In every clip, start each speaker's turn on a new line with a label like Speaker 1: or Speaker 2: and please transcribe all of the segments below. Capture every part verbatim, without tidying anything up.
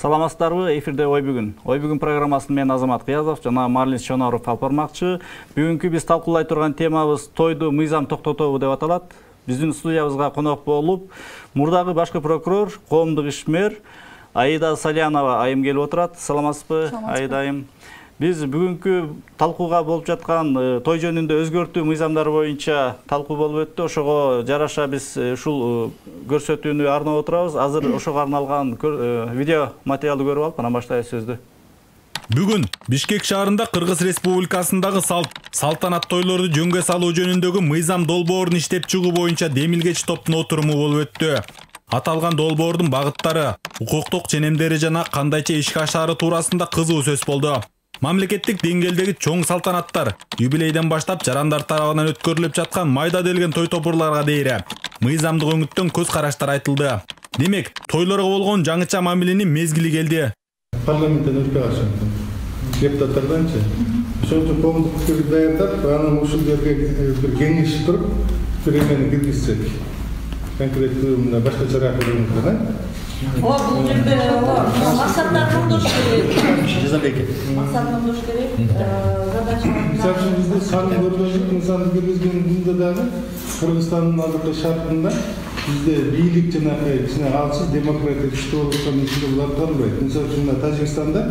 Speaker 1: Саламатсыздарбы? Эфирде Ой бүгүн. Ой бүгүн программасын мен Азамат Кыязов жана Марлин Шоноров алып бармакчы. Бүгүнкү биз талкуулай турган темабыз тойду мыйзам токтотобу деп аталат. Биздин студиябызга конок болуп, мурдагы башкы прокурор, коомдук ишмер Аида Салянова айым келип отурат. Саламатсызбы, Аида айым? Биз бүгүнкү талкууга болуп жаткан той жөнүндө өзгөртүү мыйзамдары боюнча талкуу болуп өттү. Ошого жараша биз ушул көрсөтүүнү арнап отурабыз. Азыр ошого арналган видео материалды көрүп алып, анан баштайбыз сөздү.
Speaker 2: Бүгүн Бишкек шаарында Кыргыз Республикасындагы салт салтанат тойлорду жөнгө салуу жөнүндөгү мыйзам долбоорун иштеп чыгуу боюнча демилгечи топтун отуруму болуп өттү. Аталган долбоордун багыттары, укуктук ченемдери жана кандайча ишке ашаары туурасында кызуу сөз болду. Мамлекеттик деңгээлдеги чоң салтанаттар, юбилейден баштап жарандар тарабынан өткөрүлүп жаткан майда делген той топурларга дейре мыйзамдык өңүттөн көз караштар айтылды. Демек, тойлорго болгон жаңыча мамиленин мезгили келди.
Speaker 3: Парламенттен өтпөй калышты. Депутаттарданчы. Ошончо коомдук пикирди даярдап, анан ушул жерге бир кеңеш туруп, бир эмени киргизсек. Конкреттүү мына башка чара көрүнгөн.
Speaker 4: О, бул жерде максаттар туруш керек.
Speaker 3: Жазабек.
Speaker 4: Максат туруш керек. Задача.
Speaker 3: Мисалы үчүн бизде сан көргөзүп, мисалы киргизгендө дагы Кыргызстандын азыркы шартында бизде бийлик жана кичине алсыз демократия күчтүү болуп аткан ичинде булар калбайт. Мисалы үчүн Тажикстанда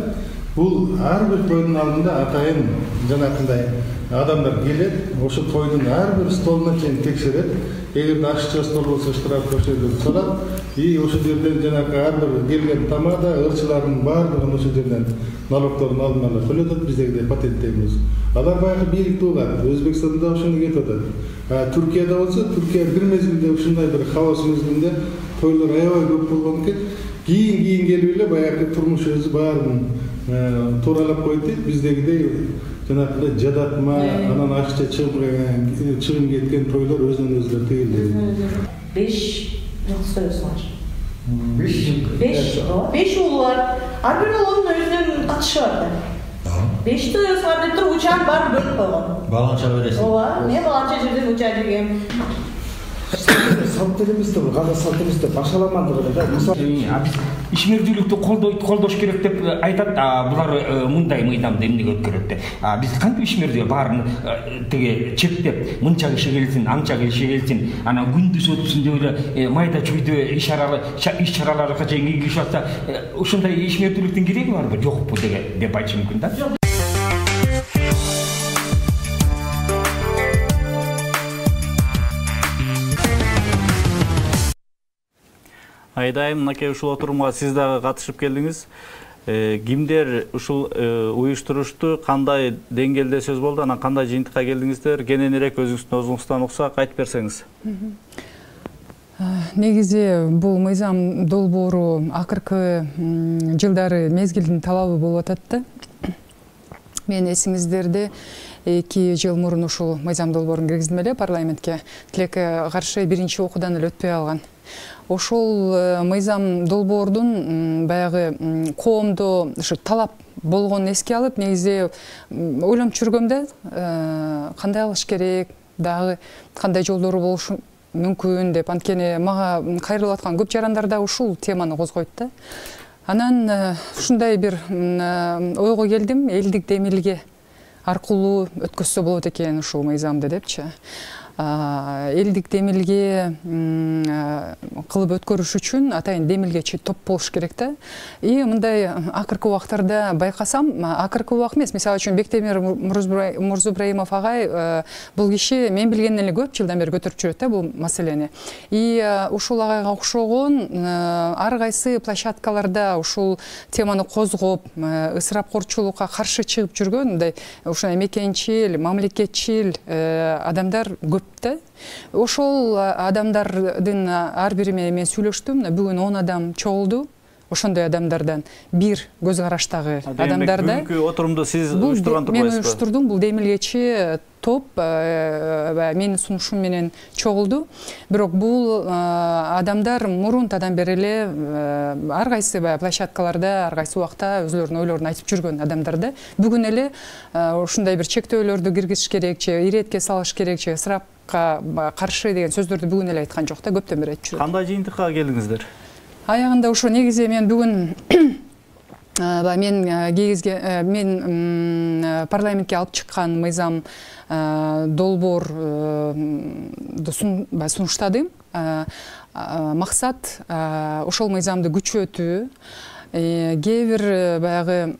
Speaker 3: бул ар бир тойдун алдында атайын жанакындай адамдар келет, ошо тойдун ар бир столуна чейин текшерет. Эгерде ашча стол болсо штраф ошол жерден салат. И ошол жерден жанагы ар бир келген тамада ырчылардын баардыгын ошол жерден налогторун алдын ала төлөтөт, биздегидей патенттейбиз. Алар баягы бийликти угат. Өзбекстанда ошону кетип атат. А Түркияда болсо, Түркия бир мезгилде ушундай бир хаос мезгилинде тойлор аябай көп болгон экен. Кийин кийин келип эле баягы турмуш өзү баарын тууралап койду дейт. Биздегидей жанагындай жадатма, анан акча чыгым кеткен тойлор өзүнөн өзү тыйылды.
Speaker 4: беш сөз бар. беш беш уул бар. Ар бир уулдун өзүнүн катышы бар да. беш сөз бар деп туруп учан баарын бөлүп койгон.
Speaker 5: Баланча бересиң.
Speaker 4: Ооба, мен баланча жерден уча жегем.
Speaker 6: Салт эмес да, кандай салт эмес да, башаламандыгы да.
Speaker 7: Биз ишмердүүлүктү колдош керек деп айтат. Булар мындай мыйзамды эмнеге өткөрөт деп. Биз кантип ишмердүү баарын тиги чектеп, мынча киши келсин, анча киши келсин, анан күндүз өтсүн деп эле майда чүйдө иш-чаралар иш-чараларга чейин киргизип атса, ушундай ишмердүүлүктүн кереги барбы, жокпу деп айтыш мүмкүн да.
Speaker 1: Айдайым, мынакей ушул отурумга сиз дагы катышып келдиңиз. Кимдер ушул уюштурушту, кандай деңгээлде сөз болду, анан кандай жыйынтыкка келдиңиздер? Кененирээк өзүңүздүн өзүңүздөн уксак айтып берсеңиз.
Speaker 8: Негизи бул мыйзам долбоору акыркы жылдары мезгилдин талабы болуп атат да. Мен эсиңиздерде эки жыл мурун ушул мыйзам долбоорун киргиздим эле парламентке. Тилекке каршы биринчи окуудан эле өтпөй алган. Ошол мыйзам долбоордун баягы коомдо ушу талап болгонун эске алып, негизи ойлонуп жүргөм да, кандай кылыш керек, дагы кандай жолдору болушу мүмкүн деп. Анткени мага кайрылып аткан көп жарандар да ушул теманы козгойт да. Анан ушундай бир ойго келдим, элдик демилге аркылуу өткөзсө болот экен ушул мыйзамды депчи. Элдик демилге кылып өткөрүш үчүн атайын демилгечи топ болуш керек да. И мындай акыркы убактарда байкасам, акыркы убак эмес, мисалы үчүн Бектемир Мурзубраимов агай бул киши мен билгенден эле көп жылдан бери көтөрүп жүрөт да бул маселени. И ушул агайга окшогон ар кайсы площадкаларда ушул теманы козгоп, ысырапкорчулукка каршы чыгып жүргөн мындай ушундай мекенчил, мамлекетчил адамдар көп. Ошол адамдардын ар бири менен мен сүйлөштүм. Бүгүн он адам чогулду. Ошондой адамдардан бир көз караштагы адамдарда.
Speaker 1: Бүгүнкү отурумду сиз уюштурган турбайсызбы?
Speaker 8: Мен уюштурдум. Бул демилгечи топ менин сунушум менен чогулду. Бирок бул адамдар мурунтадан бери эле ар кайсы площадкаларда, ар кайсы убакта өзлөрүнүн ойлорун айтып жүргөн адамдар да. Бүгүн эле ушундай бир чектөөлөрдү киргизиш керек, же иретке салыш керек, же ысырапка каршы деген сөздөрдү бүгүн эле айткан жок да, көптөн бери айтып жүрөт.
Speaker 1: Кандай жыйынтыкка келдиңиздер?
Speaker 8: Аягында ошо негизи мен бүгүн мен кийгизге мен парламентке алып чыккан мыйзам долбоорду сунуштадым. Максат ошол мыйзамды күчөтүү. Кээ бир баягы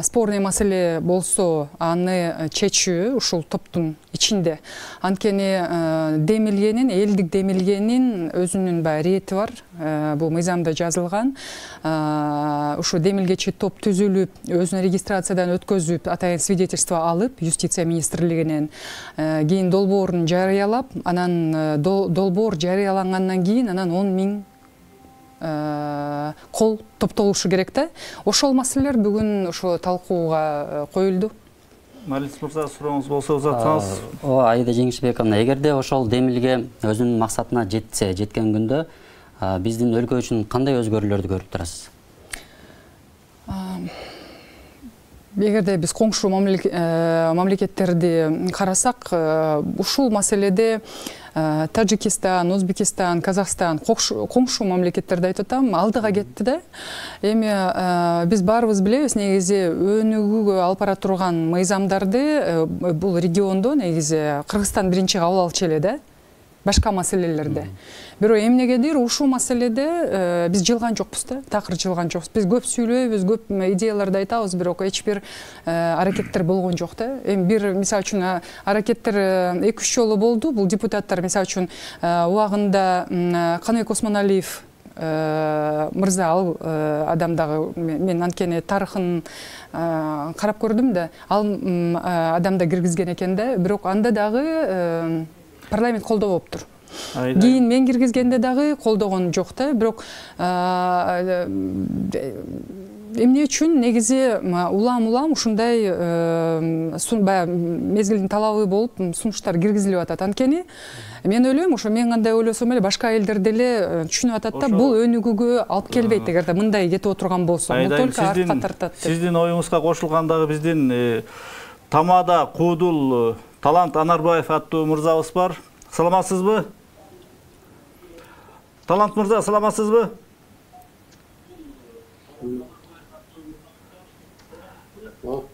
Speaker 8: спорный маселе болсо аны чечүү ушул топтун ичинде. Анткени демилгенин, элдик демилгенин өзүнүн баягы рети бар. Бул мыйзамда жазылган. Ушу демилгечи топ түзүлүп, өзүнүн регистрациядан өткөзүп, атайын свидетельство алып, юстиция министрлигинен кийин долбоорун жарыялап, анан долбоор жарыялангандан кийин анан он миң кол топтолушу керек да. Ошол маселелер бүгүн ошо талкууга коюлду.
Speaker 1: Малис мырза, сурооңуз болсо узатсаңыз.
Speaker 5: Ооба, Аида Жеңишбековна, эгерде ошол демилге өзүнүн максатына жетсе, жеткен күндө биздин өлкө үчүн кандай өзгөрүүлөрдү көрүп турасыз?
Speaker 8: Эгерде биз коңшу мамлекеттерди карасак, ушул маселеде Таджикистан, Өзбекистан, Казакстан коңшу мамлекеттерди айтып атам, алдыга кетти да. Эми биз баарыбыз билебиз, негизи өнүгүүгө алып бара турган мыйзамдарды бул региондо негизи Кыргызстан биринчи кабыл алчу эле да. Башка маселелерде. Бирок эмнегедир ушул маселеде биз жылган жокпуз да, такыр жылган жокпуз. Биз көп сүйлөйбүз, көп идеяларды айтабыз, бирок эч бир аракеттер болгон жок да. Эми бир мисалы үчүн аракеттер эки үч жолу болду. Бул депутаттар мисалы үчүн убагында Каныбек Осмоналиев мырза, ал адам дагы мен анткени тарыхын карап көрдүм да, ал адам да киргизген экен да, бирок анда дагы парламент колдоо болуптур. Кийин мен киргизгенде дагы колдогон жок да, бирок эмне үчүн негизи улам-улам ушундай мезгилдин талабы болуп сунуштар киргизилип атат. Анткени мен ойлойм, ошо мен кандай ойлосом эле башка элдер деле түшүнүп атат да, бул өнүгүүгө алып келбейт эгерде мындай кетип отурган болсо. Бул только артка тартат.
Speaker 1: Сиздин оюңузга кошулгандагы биздин Тамада Куудул Талант Анарбаев аттуу мырзабыз бар. Саламатсызбы? Талант мырза, саламатсызбы?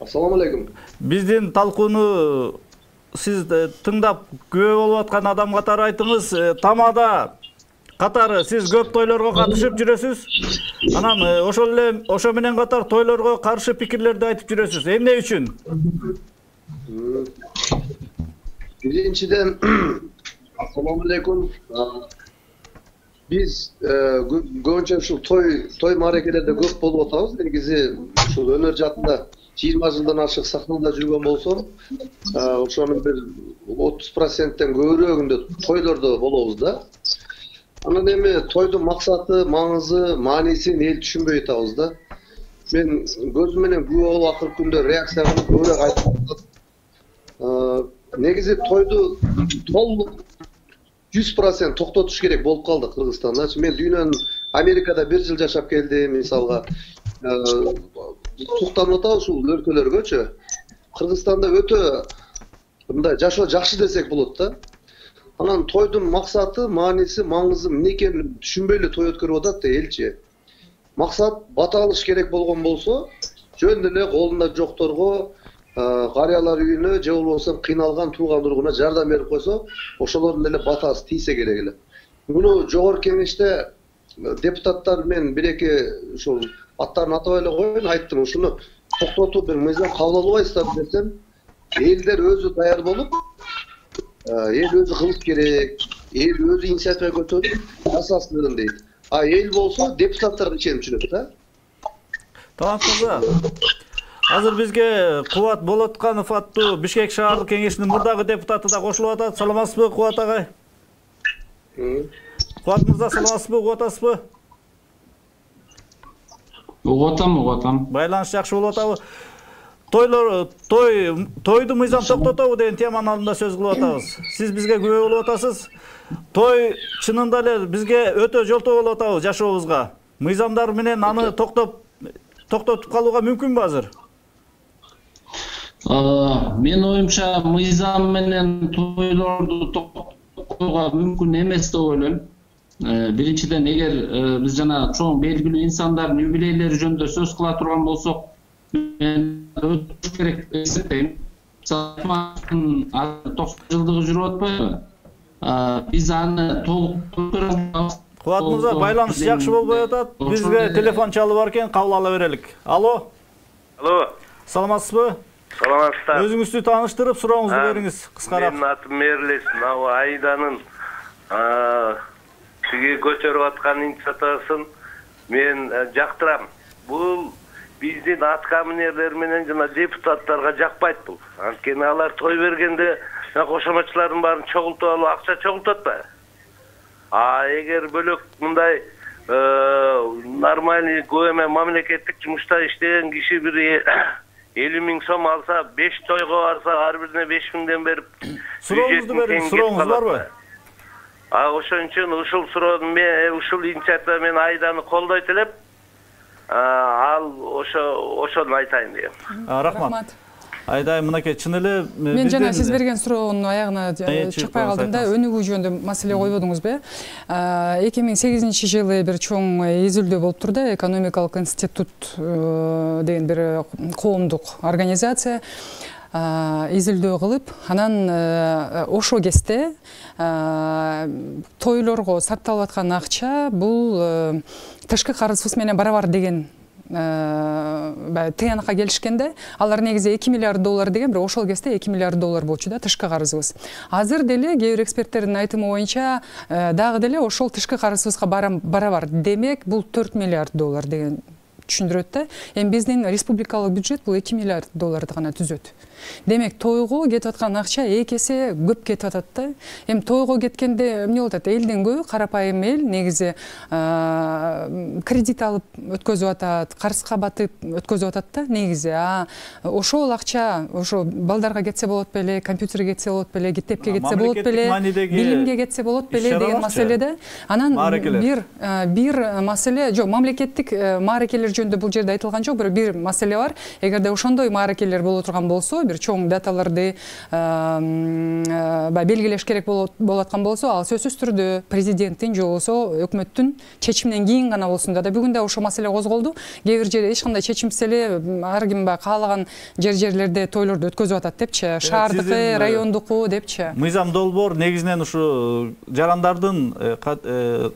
Speaker 9: Ассаламу алейкум.
Speaker 1: Биздин талкууну сиз тыңдап күбө болуп аткан адам катары айтыңыз. Тамада катары сиз көп тойлорго катышып жүрөсүз. Анан ошол эле ошо менен катар тойлорго каршы пикирлерди айтып жүрөсүз. Эмне үчүн?
Speaker 9: Биринчиден, ассаламу алейкум. Биз көбүнчө ушул той той мааракелерде көп болуп атабыз. Негизи ушул өнөр жаатында жыйырма жылдан ашык сахнада жүргөн болсом, ошонун бир отуз проценттен көбүрөөгүндө тойлордо болобуз да. Анан эми тойдун максаты, маңызы, маанисин эл түшүнбөй атабыз да. Мен көзүм менен күбө болуп акыркы күндө реакция кылып көбүрөөк айтып атам. Негизи тойду толук жүз процент токтотуш керек болуп калды Кыргызстанда. Мен дүйнөнүн Америкада бир жыл жашап келдим, мисалга. Суктанып атабыз ушул өлкөлөргөчү. Кыргызстанда өтө мындай жашоо жакшы десек болот да. Анан тойдун максаты, мааниси, маңызы эмне экенин түшүнбөй эле той өткөрүп атат да элчи. Максат бата алыш керек болгон болсо, жөн эле колунда жокторго, карыялар үйүнө же болбосо кыйналган тууган ургуна жардам берип койсо, ошолордун эле батасы тийсе керек эле. Муну жогорку кеңеште депутаттар мен бир-эки ушул аттарын атабай эле коеюн, айттым, ушуну токтотуп бир мыйзам кабыл албайсыздарбы десем, элдер өзү даяр болуп, эл өзү кылыш керек, эл өзү инициатива көтөрүп жасасын дейт. А эл болсо депутаттарга ишенип жүрөт да.
Speaker 1: Талант мырза, азыр бизге Кубат Болотканов аттуу Бишкек шаардык кеңешинин мурдагы депутаты да кошулуп атат. Саламатсызбы, Кубат агай? Кубат мырза, саламатсызбы, угуп атасызбы?
Speaker 10: Угуп атам, угуп атам.
Speaker 1: Байланыш жакшы болуп атабы? Тойлор, той, тойду мыйзам токтотобу деген теманын алдында сөз кылып атабыз. Сиз бизге күбө болуп атасыз. Той чынында эле бизге өтө жолтоо болуп атабы жашообузга. Мыйзамдар менен аны токтоп токтотуп калууга мүмкүнбү азыр?
Speaker 10: Мен оюмча мыйзам менен тойлорду токтотууга мүмкүн эмес деп ойлойм. Биринчиден, эгер биз жана чоң белгилүү инсандардын юбилейлери жөнүндө сөз кыла турган болсок, мен өтүш керек деп эсептейм. токсон жылдыгы жүрүп атпайбы? Биз аны толук өткөрөбүз.
Speaker 1: Кубат мырза, байланыш жакшы болбой атат. Бизге телефон чалып бар экен, кабыл ала берелик. Алло.
Speaker 11: Алло.
Speaker 1: Саламатсызбы?
Speaker 11: Саламатсыздар.
Speaker 1: Өзүңүздү тааныштырып, сурооңузду бериңиз кыскараак.
Speaker 11: Менин атым Мерлес. Мына Айданын тиги көтөрүп аткан инициативасын мен жактырам. Бул биздин аткаминерлер менен жана депутаттарга жакпайт бул. Анткени алар той бергенде кошомочулардын баарын чогултуп алып акча чогултуп атпайбы? А эгер бөлөк мындай нормальный көмө мамлекеттик жумушта иштеген киши бир элүү миң сом алса, беш тойго барса, ар бирине беш миңден берип,
Speaker 1: сурооңузду бериңиз, сурооңуз барбы?
Speaker 11: А ошон үчүн ушул суроону мен ушул инициатива мен Айданы колдойт элем. Ал ошо ошону айтайын дейм.
Speaker 1: Рахмат. Айдай, мынакей, чын эле
Speaker 8: мен жана сиз берген суроонун аягына чыкпай калдым да, өнүгүү жөнүндө маселе койбодуңузбу? эки миң сегизинчи жылы бир чоң изилдөө болуптур да, экономикалык институт деген бир коомдук организация изилдөө кылып, анан ошол кезде тойлорго сарпталып аткан акча бул тышкы карызыбыз менен барабар деген тыянакка келишкенде, алар негизи эки миллиард доллар деген, бирок ошол кезде эки миллиард доллар болчу да тышкы карызыбыз. Азыр деле кээ бир эксперттердин айтымы боюнча дагы деле ошол тышкы карызыбызга барабар. Демек, бул төрт миллиард доллар деген түшүндүрөт да. Эми биздин республикалык бюджет бул эки миллиард долларды гана түзөт. Демек, тойго кетип аткан акча эки эсе көп кетип атат да. Эми тойго кеткенде эмне болот? Элдин көбү, карапайым эл негизи кредит алып өткөзүп атат, карызга батып өткөзүп атат да негизи. А ошол акча ошо балдарга кетсе болот беле, компьютерге кетсе болот беле, китепке кетсе болот беле, билимге кетсе болот беле деген маселеде. Анан бир бир маселе, жок, мамлекеттик мааракелер жөнүндө бул жерде айтылган жок, бирок бир маселе бар. Эгерде ошондой мааракелер боло турган болсо, чоң даталарды белгилеш керек болуп аткан болсо, ал сөзсүз түрдө президенттин же болбосо өкмөттүн чечиминен кийин гана болсун да. Бүгүн да ошол маселе козголду. Кээ бир жерде эч кандай чечимсиз эле ар ким каалаган жер-жерлерде тойлорду өткөзүп атат депчи, шаардыкы, райондуку депчи.
Speaker 1: Мыйзам Долбоор негизинен ушу жарандардын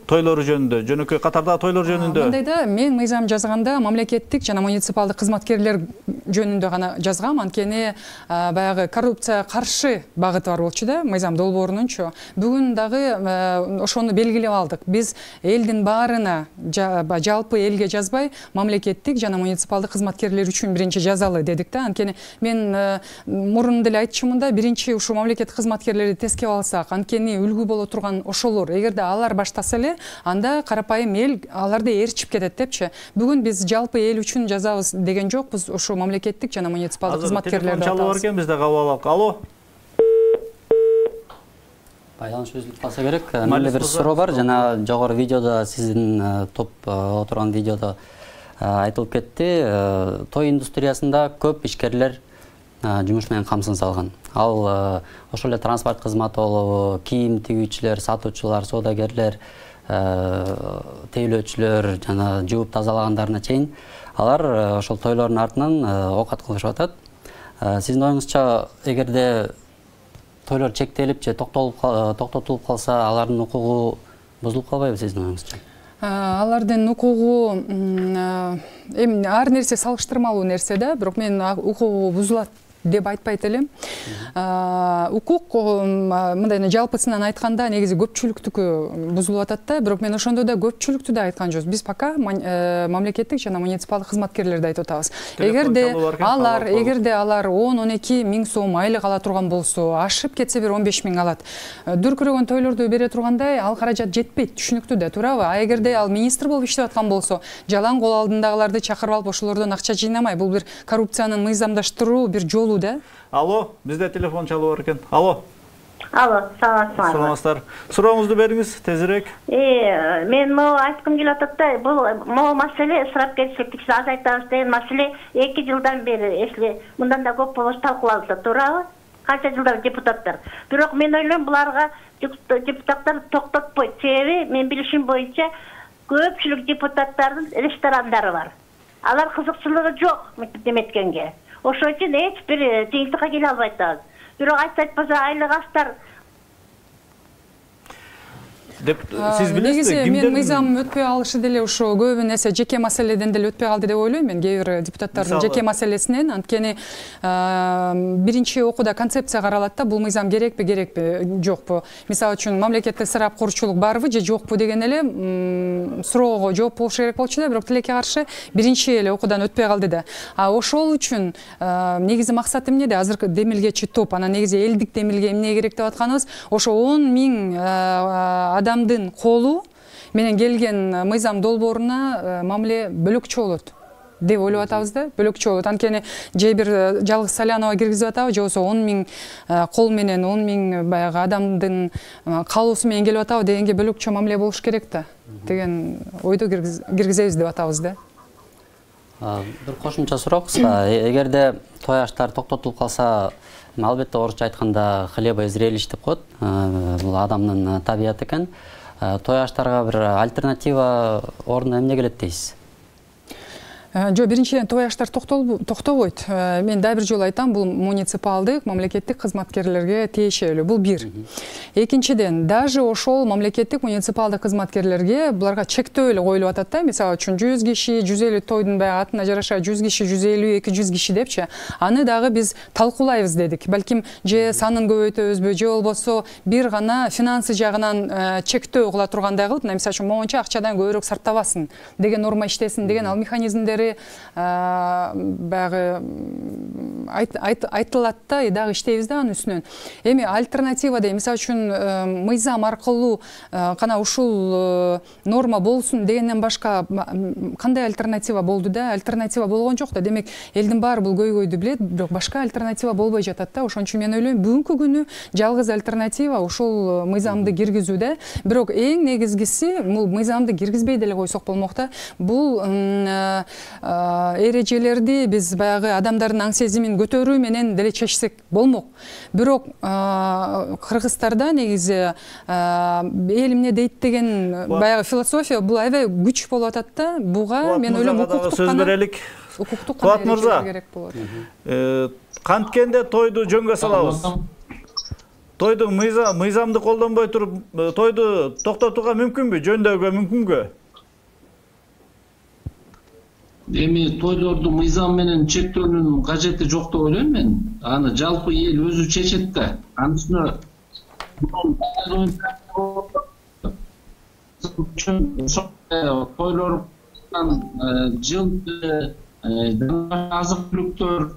Speaker 1: тойлору жөнүндө, жөнөкөй катардагы тойлор жөнүндө.
Speaker 8: Мындай да, мен мыйзам жазганда мамлекеттик жана муниципалдык кызматкерлер жөнүндө гана жазгам, анткени баягы коррупцияга каршы багыты бар болчу да, мыйзам долбоорунунчу. Бүгүн дагы ошону белгилеп алдык. Биз элдин баарына, жалпы элге жазбай, мамлекеттик жана муниципалдык кызматкерлер үчүн биринчи жазалы дедик да. Анткени мен мурун деле айтчумун да, биринчи ушу мамлекеттик кызматкерлерди тескеп алсак, анткени үлгү боло турган ошолор. Эгерде алар баштаса эле, анда карапайым эл аларды ээрчип кетет депчи. Бүгүн биз жалпы эл үчүн жазабыз деген жокпуз, ушу мамлекеттик жана муниципалдык кызматкерлерди
Speaker 1: чалып бар экен, бизде кабыл алалык. Алло.
Speaker 5: Байланыш үзүлүп калса керек. Менде бир суроо бар. Жана жогору видеодо, сиздин топ отурган видеодо айтылып кетти. Той индустриясында көп ишкерлер жумуш менен камсыз алган. Ал ошол эле транспорт кызматы болобу, кийим тигүүчүлөр, сатуучулар, соодагерлер, тейлөөчүлөр, жана жууп тазалагандарына чейин алар ошол тойлордун артынан оокат кылышып атат. Сиздин оюңузча, эгерде тойлор чектелип же токтотулуп калса, алардын укугу бузулуп калбайбы сиздин оюңузча?
Speaker 8: Алардын укугу эми ар нерсе салыштырмалуу нерсе да, бирок мен укугу бузулат деп айтпайт элем. Укук мындай жалпысынан айтканда негизи көпчүлүктүкү бузулуп атат да, бирок мен ошондо да көпчүлүктү да айткан жокпуз. Биз пока мамлекеттик жана муниципалдык кызматкерлерди айтып атабыз. Эгерде алар, эгерде алар он он эки миң сом айлык ала турган болсо, ашып кетсе бир он беш миң алат. Дүркүрөгөн тойлорду бере тургандай, ал каражат жетпейт, түшүнүктүү да, туурабы? А эгерде ал министр болуп иштеп аткан болсо, жалаң кол алдындагыларды чакырып алып ошолордон акча жыйнамай, бул бир коррупциянын мыйзамдаштыруу бир жолу да.
Speaker 1: Алло, бизде телефон чалып бар экен. Алло.
Speaker 12: Алло, саламатсызбы?
Speaker 1: Саламатсыздар. Сурооңузду бериңиз тезирээк.
Speaker 12: Э, мен могу айткым келип атат да, бул могу маселе ысырапкерчиликти азайтабыз деген маселе эки жылдан бери, если мындан да көп болбосо талкууланып атат, туурабы? канча жылдар депутаттар. Бирок мен ойлойм буларга депутаттар токтотпойт. Себеби мен билишим боюнча көпчүлүк депутаттардын ресторандары бар. Алар кызыкчылыгы жок неметкенге. Ошон үчүн эч бир жыйынтыкка келе албайт атабыз. Бирок айтса айтпаса айлык аштар
Speaker 1: деп сиз билесиз
Speaker 8: негизи мен мыйзам өтпөй алышы деле ошо көбү нерсе жеке маселеден деле өтпөй калды деп ойлойм мен кээ бир депутаттардын жеке маселесинен. Анткени биринчи окууда концепция каралат да, бул мыйзам керекпи керекпи жокпу, мисалы үчүн мамлекеттик ысырап корчулук барбы же жокпу деген эле суроого жооп болуш керек болчу да, бирок тилекке каршы биринчи эле окуудан өтпөй калды да. А ошол үчүн негизи максат эмнеде? Азыркы демилгечи топ, анан негизи элдик демилге эмне керек деп атканыбыз ошо он миң адамдын колу менен келген мыйзам долбооруна мамиле бөлөкчө болот деп ойлоп атабыз да, бөлөкчө болот. Анткени же бир жалгыз Салянова киргизип атабы, же болбосо он миң кол менен он миң баягы адамдын каалоосу менен келип атабы дегенге бөлөкчө мамиле болуш керек да деген ойду киргизебиз деп атабыз да.
Speaker 5: Бир кошумча суроо кыска. Эгерде той аштар токтотулуп калса, албетте орусча айтканда хлеба и зрелищ деп коет. Бул адамдын табияты экен. Той аштарга бир альтернатива ордуна эмне келет дейсиз?
Speaker 8: Жо, биринчиден той аштар токтобойт. Мен дагы бир жолу айтам, бул муниципалдык мамлекеттик кызматкерлерге тиешелүү. Бул бир. Экинчиден, даже ошол мамлекеттик муниципалдык кызматкерлерге буларга чектөө эле коюлуп атат да. Мисалы үчүн жүз киши, жүз элүү тойдун баягы атына жараша жүз киши, жүз элүү, эки жүз киши депчи. Аны дагы биз талкуулайбыз дедик. Балким же санын көбөйтөбүзбү, же болбосо бир гана финансы жагынан чектөө кыла тургандай кылып, мисалы үчүн моунча акчадан көбүрөөк сарптабасын деген норма иштесин деген ал механизмдери баягы айтылат да, дагы иштейбиз да анын үстүнөн. Эми альтернатива дейм, мисалы үчүн мыйзам аркылуу кана ушул норма болсун дегенден башка кандай альтернатива болду да? Альтернатива болгон жок да. Демек элдин баары бул көйгөйдү билет, бирок башка альтернатива болбой жатат да. Ошон үчүн мен ойлойм, бүгүнкү күнү жалгыз альтернатива ушул мыйзамды киргизүү да. Бирок эң негизгиси бул мыйзамды киргизбей деле койсок болмок да. Бул эрежелерди биз баягы адамдардын аң сезимин көтөрүү менен деле чечсек болмок. Бирок кыргыздарда негизи эл эмне дейт деген баягы философия бул аябай күч болуп атат да. Буга мен ойлойм укуктук
Speaker 1: сөз берелик.
Speaker 8: Укуктук
Speaker 1: Кубат мырза, канткенде тойду жөнгө салабыз. Тойду мыйзамды колдонбой туруп тойду токтотууга мүмкүнбү, жөндөөгө мүмкүнбү?
Speaker 10: Эми тойлорду мыйзам менен чектөөнүн кажети жок деп ойлойм мен. Аны жалпы эл өзү чечет да. Анын үстүнө тойлордан жыл азык түлүктөр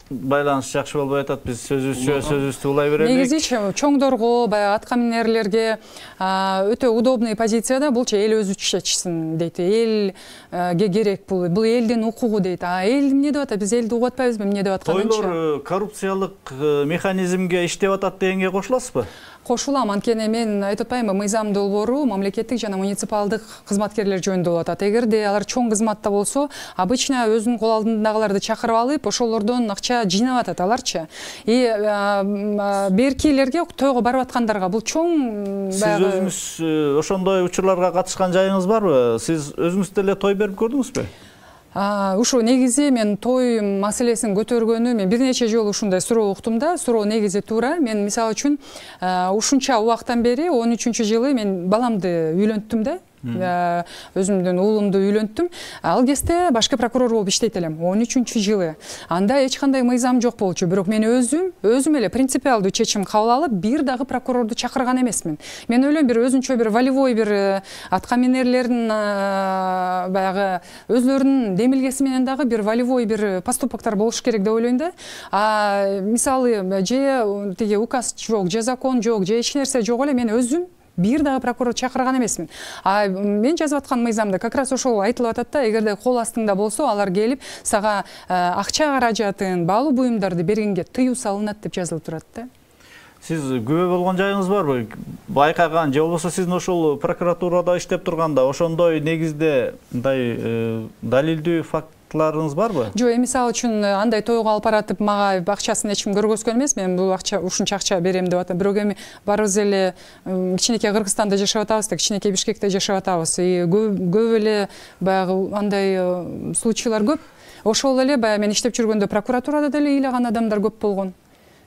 Speaker 1: байланыш жакшы болбой атат. Биз сөзүбүздү сөзүбүздү улай берелик.
Speaker 8: Негизи чоңдорго, баягы атка минерлерге өтө удобный позицияда булчу эл өзү чечсин дейт. Элге керек бул. Бул элдин укугу дейт. А эл эмне деп атат? Биз элди угуп атпайбызбы эмне деп атканынча?
Speaker 1: Тойлор коррупциялык механизмге иштеп атат дегенге кошуласызбы?
Speaker 8: Кошулам, анткени мен айтып атпаймынбы, мыйзам долбоору мамлекеттик жана муниципалдык кызматкерлер жөнүндө болуп атат. Эгерде алар чоң кызматта болсо, обычно өзүнүн кол алдындагыларды чакырып алып, ошолордон акча жыйнап атат аларчы. И беркилерге тойго барып аткандарга бул чоң
Speaker 1: баягы. Сиз өзүңүз ошондой учурларга катышкан жайыңыз барбы? Сиз өзүңүз деле той берип көрдүңүзбү?
Speaker 8: Ушу негизи мен той маселесин көтөргөнү мен бир нече жолу ушундай суроо уктум да. Суроо негизи туура. Мен мисалы үчүн ушунча убактан бери он үчүнчү жылы мен баламды үйлөнттүм да. Өзүмдүн уулумду үйлөнттүм. Ал кезде башкы прокурор болуп иштейт элем. он үчүнчү жылы. Анда эч кандай мыйзам жок болчу. Бирок мен өзүм, өзүм эле принципиалдуу чечим кабыл алып, бир дагы прокурорду чакырган эмесмин. Мен ойлойм, бир өзүнчө бир волевой бир атка минерлердин баягы өзлөрүнүн демилгеси менен дагы бир волевой бир поступоктор болуш керек деп ойлойм да. А мисалы же тиги указ жок, же закон жок, же эч нерсе жок эле мен өзүм бир дагы прокурор чакырган эмесмин. А мен жазып аткан мыйзамда как раз ошол айтылып атат да, эгерде кол астыңда болсо, алар келип сага акча каражатын, баалуу буюмдарды бергенге тыюу салынат деп жазылып турат да.
Speaker 1: Сиз күбө болгон жайыңыз барбы? Байкаган же болбосо сиздин ошол прокуратурада иштеп турганда ошондой негизде мындай далилдүү фактларыңыз барбы?
Speaker 8: Жок, мисалы үчүн андай тойго алып баратып мага акчасын эч ким көргөзгөн эмес. Мен бул акча ушунча акча берем деп атам. Бирок эми барыбыз эле кичинекей Кыргызстанда жашап атабыз да, кичинекей Бишкекте жашап атабыз. Көп эле баягы андай случайлар көп. Ошол эле баягы мен иштеп жүргөндө прокуратурада деле ыйлаган адамдар көп болгон.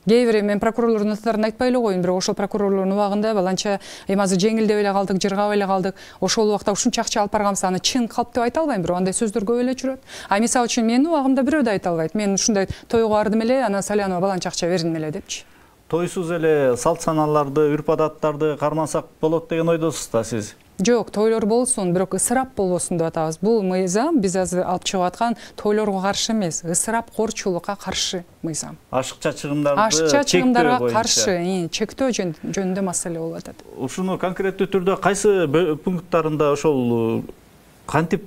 Speaker 8: Кээ бир мен прокурорлордун аттарын айтпай эле коеюн, бирок ошол прокурорлордун убагында баланча эми азыр жеңилдеп эле калдык, жыргап эле калдык. Ошол убакта ушунча акча алып барганбыз, аны чын калп деп айта албайм, бирок андай сөздөр көп эле жүрөт. А мисалы үчүн менин убагымда бирөө да айта албайт. Мен ушундай тойго бардым эле, анан Салянова баланча акча бердим эле депчи.
Speaker 1: Тойсуз эле салт саналарды, үрп адаттарды кармансак болот деген ойдосуз да сиз?
Speaker 8: Жок, тойлор болсун, бирок ысырап болбосун деп атабыз. Бул мыйзам биз азыр алып чыгып аткан тойлорго каршы эмес, ысырапкорчулукка каршы мыйзам.
Speaker 1: Ашыкча чыгымдарды
Speaker 8: Ашыкча чыгымдарга каршы, чектөө жөнүндө маселе болуп атат.
Speaker 1: Ушуну конкреттүү түрдө кайсы пункттарында ошол кантип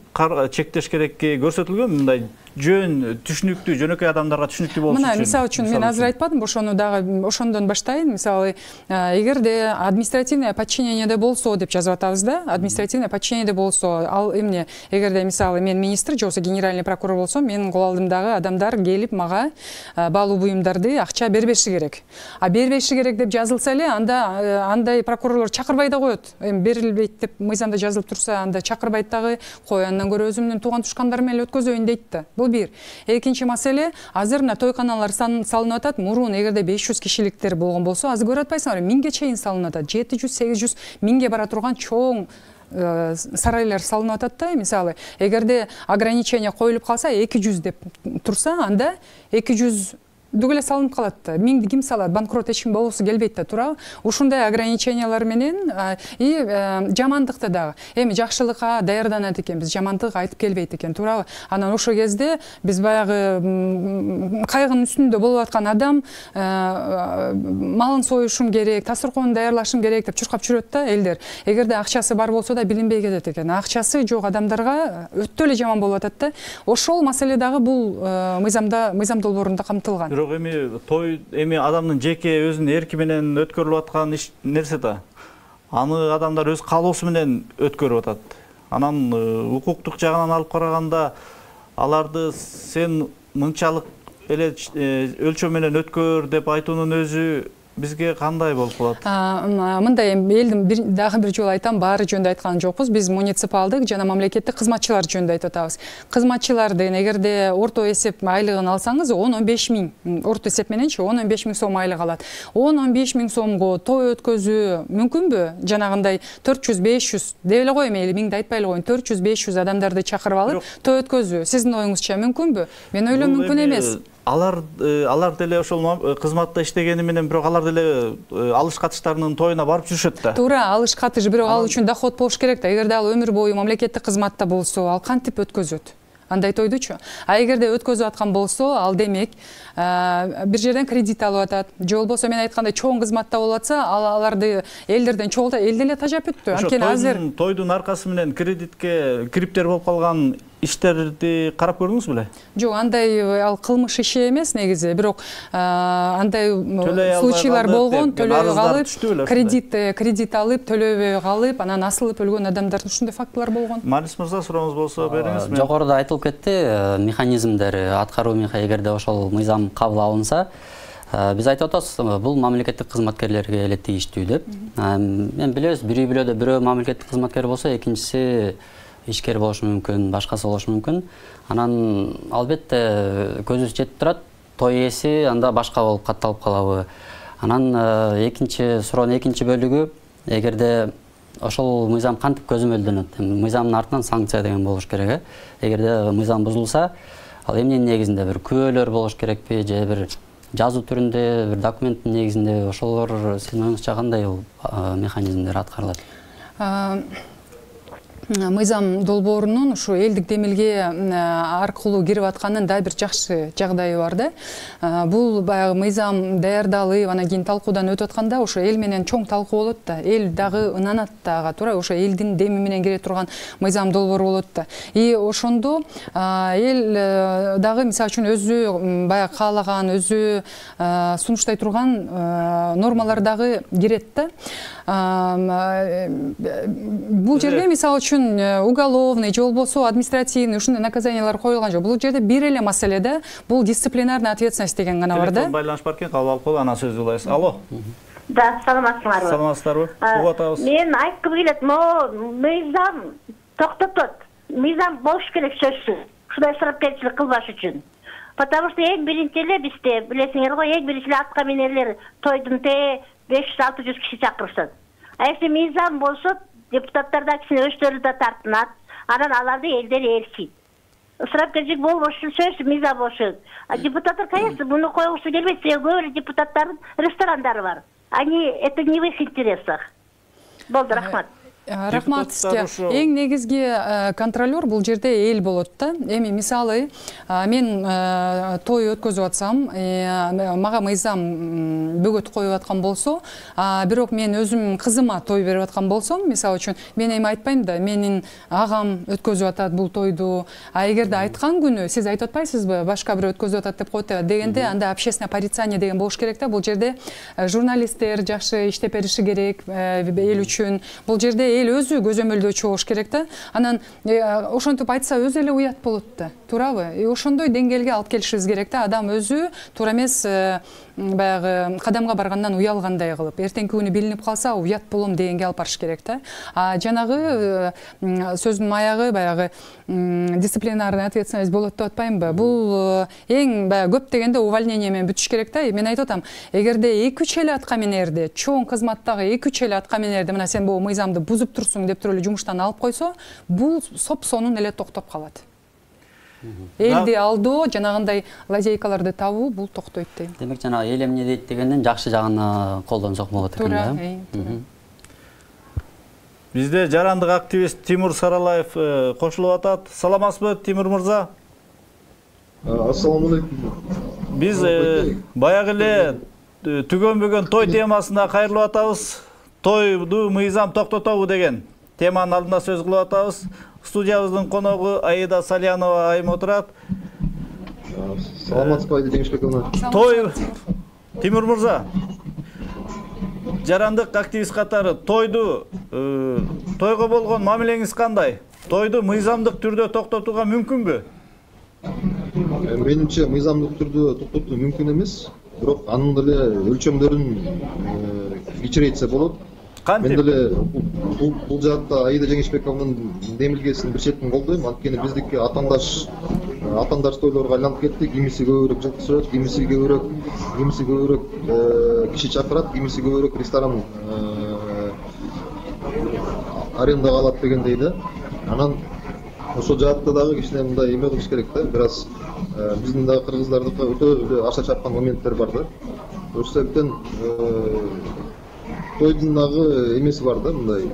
Speaker 1: чектеш керекки көрсөтүлгөн? Мындай жөн түшүнүктүү, жөнөкөй адамдарга түшүнүктүү болуш үчүн.
Speaker 8: Мына, мисалы үчүн мен азыр айтпадым, ошону дагы ошондон баштайын. Мисалы, эгерде административное подчинениеде болсо деп жазып атабыз да, административное подчинениеде болсо, ал эмне, эгерде мисалы мен министр же болбосо генеральный прокурор болсом, менин кол алдымдагы адамдар келип мага баалуу буюмдарды акча бербеши керек. А бербеши керек деп жазылса эле, анда андай прокурорлор чакырбай да коет. Эми берилбейт деп мыйзамда жазылып турса, анда чакырбайт дагы, кой андан көрө өзүмдүн тууган тушкандарым менен өткөзөйүн дейт да. Бул бир. Экинчи маселе, азыр мына тойканалар салынып атат. Мурун эгерде беш жүз кишиликтер болгон болсо, азыр көрүп атпайсыңарбы, миңге чейин салынып атат. жети жүз, сегиз жүз, миңге бара турган чоң сарайлар салынып атат да. Мисалы, эгерде ограничение коюлуп калса, эки жүз деп турса, анда эки жүз дүгү эле салынып калат да. Миңди ким салат? Банкрот эч ким болбосу келбейт да, туурабы? Ушундай ограничениялар менен и жамандыкты дагы. Эми жакшылыкка даярданат экенбиз, жамандык айтып келбейт экен, туурабы? Анан ошол кезде биз баягы кайгынын үстүндө болуп аткан адам малын союшум керек, тасыркоонун даярлашым керек деп чуркап жүрөт да элдер. Эгерде акчасы бар болсо да билинбей кетет экен. Акчасы жок адамдарга өтө эле жаман болуп атат да. Ошол маселе дагы бул мыйзамда, мыйзам долбоорунда камтылган.
Speaker 1: Эми той эми адамдын жеке өзүнүн эрки менен өткөрүлүп аткан иш нерсе да. Аны адамдар өз каалоосу менен өткөрүп атат. Анан укуктук жагынан алып караганда аларды сен мынчалык эле өлчөм менен өткөр деп айтуунун өзү бизге кандай болуп калат?
Speaker 8: Мындай элдин дагы бир жолу айтам, баары жөнүндө айткан жокпуз. Биз муниципалдык жана мамлекеттик кызматчылар жөнүндө айтып атабыз. Кызматчылардын эгерде орто эсеп айлыгын алсаңыз, он он беш миң, орто эсеп мененчи он он беш миң сом айлык алат. он он беш миң сомго той өткөзүү мүмкүнбү? Жанагындай төрт жүз беш жүз деп эле коем, эли миңди айтпай эле коеюн. төрт жүз беш жүз адамдарды чакырып алып той өткөзүү сиздин оюңузча мүмкүнбү? Мен ойлойм мүмкүн эмес.
Speaker 1: Алар алар деле ошол кызматта иштегени менен, бирок алар деле алыш катыштарынын тоюна барып жүрүшөт да.
Speaker 8: Туура, алыш катыш, бирок ал үчүн доход болуш керек да. Эгерде ал өмүр бою мамлекеттик кызматта болсо, ал кантип өткөзөт? Андай тойдучу. А эгерде өткөзүп аткан болсо, ал демек бир жерден кредит алып атат. Же болбосо мен айткандай чоң кызматта болуп атса, аларды элдерден чогулта, эл деле тажап өттү.
Speaker 1: Анткени азыр тойдун аркасы менен кредитке кириптер болуп калган иштерди карап көрдүңүз беле?
Speaker 8: Жок, андай ал кылмыш иши эмес негизи, бирок андай случайлар болгон, төлөбөй калып, кредит кредит алып, төлөбөй калып, анан асылып өлгөн адамдардын ушундай фактылар болгон.
Speaker 1: Малис мырза, сурооңуз болсо бериңиз.
Speaker 5: Жогоруда айтылып кетти, механизмдери, аткаруу механизми, эгерде ошол мыйзам кабыл алынса, биз айтып атабыз, бул мамлекеттик кызматкерлерге эле тийиштүү деп. Мен билебиз, бир үй бүлөдө бирөө мамлекеттик кызматкер болсо, экинчиси ишкер болушу мүмкүн, башкасы болушу мүмкүн. Анан албетте көзүбүз жетип турат, той ээси анда башка болуп катталып калабы. Анан экинчи суроонун экинчи бөлүгү, эгерде ошол мыйзам кантип көзөмөлдөнөт? Мыйзамдын артынан санкция деген болуш керек. Эгерде мыйзам бузулса, ал эмненин негизинде, бир күбөлөр болуш керекпи, же бир жазуу түрүндө, бир документтин негизинде, ошолор сиздин оюңузча кандай механизмдер аткарылат?
Speaker 8: Мыйзам долбоорунун ушу элдик демилге аркылуу кирип атканын да бир жакшы жагдайы бар да. Бул баягы мыйзам даярдалып, анан кийин талкуудан өтүп атканда ошо эл менен чоң талкуу болот да. Эл дагы ынанат дагы, туура ошо элдин деми менен кире турган мыйзам долбоор болот да. И ошондо эл дагы мисалы үчүн өзү баягы каалаган, өзү сунуштай турган нормалар дагы кирет да. Бул жерге мисалы үчүн үчүн уголовный же болбосо административный ушундай наказаниялар коюлган жок. Бул жерде бир эле маселе да, бул дисциплинарный ответственность деген гана бар да.
Speaker 1: Телефон байланыш бар экен, кабыл алып коелу, анан сөз улайсыз. Алло.
Speaker 12: Да, саламатсыңарбы?
Speaker 1: Саламатсыздарбы? Угуп атабыз.
Speaker 12: Мен айткым келет, но мыйзам токтотот. Мыйзам болуш керек сөзсүз. Ушундай ысырапкерчилик кылбаш үчүн. Потому что эң биринчи эле бизде, билесиңер го, эң биринчи эле атка минерлер тойдун те беш жүз алты жүз киши чакырышат. А если мыйзам болсо, депутаттар да кишини өздөрү да тартынат, анан аларды элдер ээрчийт. Ысырапкерчилик болбош үчүн сөзсүз мыйзам болуш керек. А депутаттар, конечно, буну койгусу келбейт, себеби көп эле депутаттардын ресторандары бар. Они, это не в их интересах. Болду, рахмат.
Speaker 8: Рахмат сизге. Эң негизги контролер бул жерде эл болот да. Эми мисалы мен той өткөзүп атсам, мага мыйзам бөгөт коюп аткан болсо, бирок мен өзүм кызыма той берип аткан болсом, мисалы үчүн мен эми айтпайм да, менин агам өткөзүп атат бул тойду. А эгерде айткан күнү сиз айтып атпайсызбы, башка бирөө өткөзүп атат деп коет дегенде, анда общественное порицание деген болуш керек да. Бул жерде журналисттер жакшы иштеп бериши керек эл үчүн. Бул жерде эл өзү көзөмөлдөөчү болуш керек да. Анан ошентип айтса өзү эле уят болот да. Туурабы? Ошондой деңгээлге алып келишибиз керек да. Адам өзү туура эмес баягы кадамга баргандан уялгандай кылып, эртеңки күнү билинип калса уят болом дегенге алып барыш керек да. А жанагы сөздүн аягы баягы дисциплинарный ответственность болот деп атпаймынбы? Бул эң баягы көп дегенде увольнение менен бүтүш керек да. Мен айтып атам, эгерде эки үч эле атка минерди, чоң кызматтагы эки үч эле атка минерди, мына сен бул мыйзамды бузуп турсуң деп туруп эле жумуштан алып койсо, бул соп сонун эле токтоп калат. Элди алдоо, жанагындай лазейкаларды табуу бул токтойт дейм.
Speaker 5: Демек жанагы эл эмне дейт дегенден жакшы жагына колдонсок болот экен да.
Speaker 1: Бизде жарандык активист Тимур Саралаев кошулуп атат. Саламатсызбы, Тимур мырза?
Speaker 13: Ассаламу алейкум.
Speaker 1: Биз баягы эле түгөнбөгөн той темасына кайрылып атабыз. Тойду мыйзам токтотобу деген теманын алдында сөз кылып атабыз. Студиябыздын коногу Аида Салянова айым отурат.
Speaker 13: Саламатсызбы, Аида Жеңишбековна?
Speaker 1: Той Тимур мырза, жарандык активист катары тойду тойго болгон мамилеңиз кандай? Тойду мыйзамдык түрдө токтотууга мүмкүнбү?
Speaker 13: Менимче мыйзамдык түрдө токтотуу мүмкүн эмес, бирок анын деле өлчөмдөрүн кичирейтсе болот. Мен деле бул жаатта Аида Жеңишбековнун демилгесин бир четин колдойм. Анткени биздики атандаш атандаш тойлорго айланып кетти. Кимиси көбүрөөк жаткызат, кимиси көбүрөөк, кимиси көбүрөөк киши чакырат, кимиси көбүрөөк ресторан арендага алат дегендей да. Анан ошол жаатта дагы кичине мындай эме кылыш керек да. Бир аз биздин дагы кыргыздардыкы өтө аша чапкан моменттер бар да. Ошол себептен тойдун дагы эмеси бар да, мындай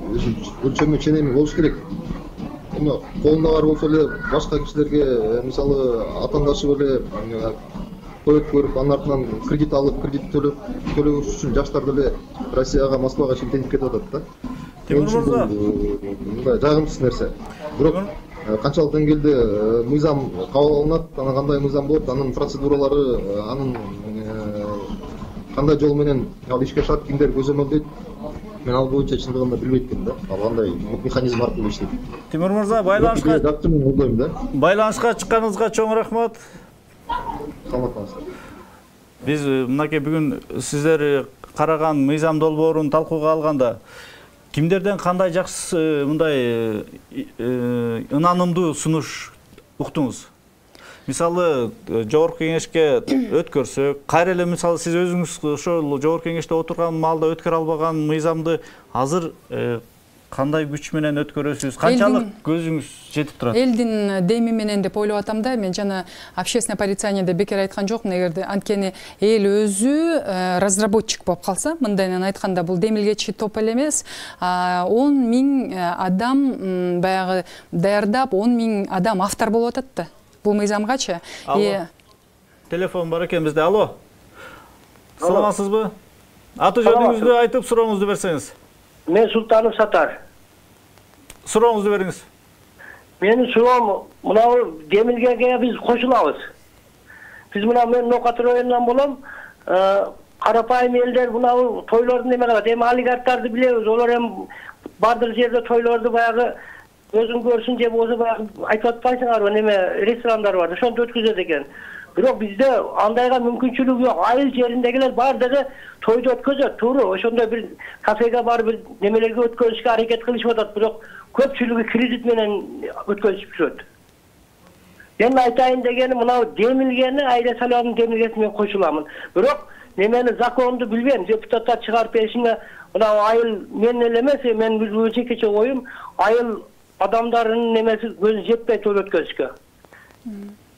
Speaker 13: өлчөмү ченеми болуш керек. Эми колунда бар болсо эле башка кишилерге, мисалы атандашы эле той өткөрүп, анын артынан кредит алып, кредит төлөп төлөбөш үчүн жаштар деле Россияга, Москвага шилтенип кетип атат да.
Speaker 1: Тимур мырза,
Speaker 13: мындай жагымсыз нерсе. Бирок канчалык деңгээлде мыйзам кабыл алынат, анан кандай мыйзам болот, анын процедуралары, анын кандай жол менен ал ишке ашат, кимдер көзөмөлдөйт, мен ал боюнча чындыгында билбейт экенмин да. Ал кандай механизм аркылуу иштейт.
Speaker 1: Тимур мырза, байланышка
Speaker 13: жактымын колдойм да.
Speaker 1: Байланышка чыкканыңызга чоң рахмат.
Speaker 13: Саламат болуңуздар.
Speaker 1: Биз мынакей бүгүн сиздер караган мыйзам долбоорун талкууга алганда кимдерден кандай жакшы мындай ынанымдуу сунуш уктуңуз? Мисалы, жогорку кеңешке өткөрсөк, кайра эле мисалы сиз өзүңүз ошол жогорку кеңеште отурган маалда өткөрө албаган мыйзамды азыр кандай күч менен өткөрөсүз? Канчалык көзүңүз жетип турат?
Speaker 8: Элдин деми менен деп ойлоп атам да. Мен жана общественное порицание бекер айткан жокмун. Эгерде анткени эл өзү разработчик болуп калса, мындайынан айтканда бул демилгечи топ эле эмес, он миң адам баягы даярдап, он миң адам автор болуп атат да. Бул мыйзамгачы.
Speaker 1: Алло. Телефон бар экен бизде. Алло. Саламатсызбы? Аты жөнүңүздү айтып, сурооңузду берсеңиз.
Speaker 14: Мен Султанов Сатар.
Speaker 1: Сурооңузду бериңиз.
Speaker 14: Менин суроом, мына демилгеге биз кошулабыз. Биз мына мен Нокат районунан болом. Карапайым элдер мына тойлордун эме кылат. Эми олигархтарды билебиз. Олар эми бардык жерде тойлорду баягы өзүң көрсүн же болбосо баягы айтып атпайсыңарбы, неме ресторандар бар, ошонтип өткөзөт экен. Бирок бизде андайга мүмкүнчүлүк жок. Айыл жериндегилер баардыгы тойду өткөзөт, туура. Ошондой бир кафеге барып бир немелерге өткөзүшкө аракет кылышып атат, бирок көпчүлүгү кредит менен өткөзүп жүрөт. Мен айтайын дегени мына демилгени, айла саламын демилгесине мен кошуламын. Бирок немени законду билбейм, депутаттар чыгарып беришине мына айыл мен эле эмес, мен жекече оюм, айыл адамдардын немеси көзү жетпей той өткөзүшкө.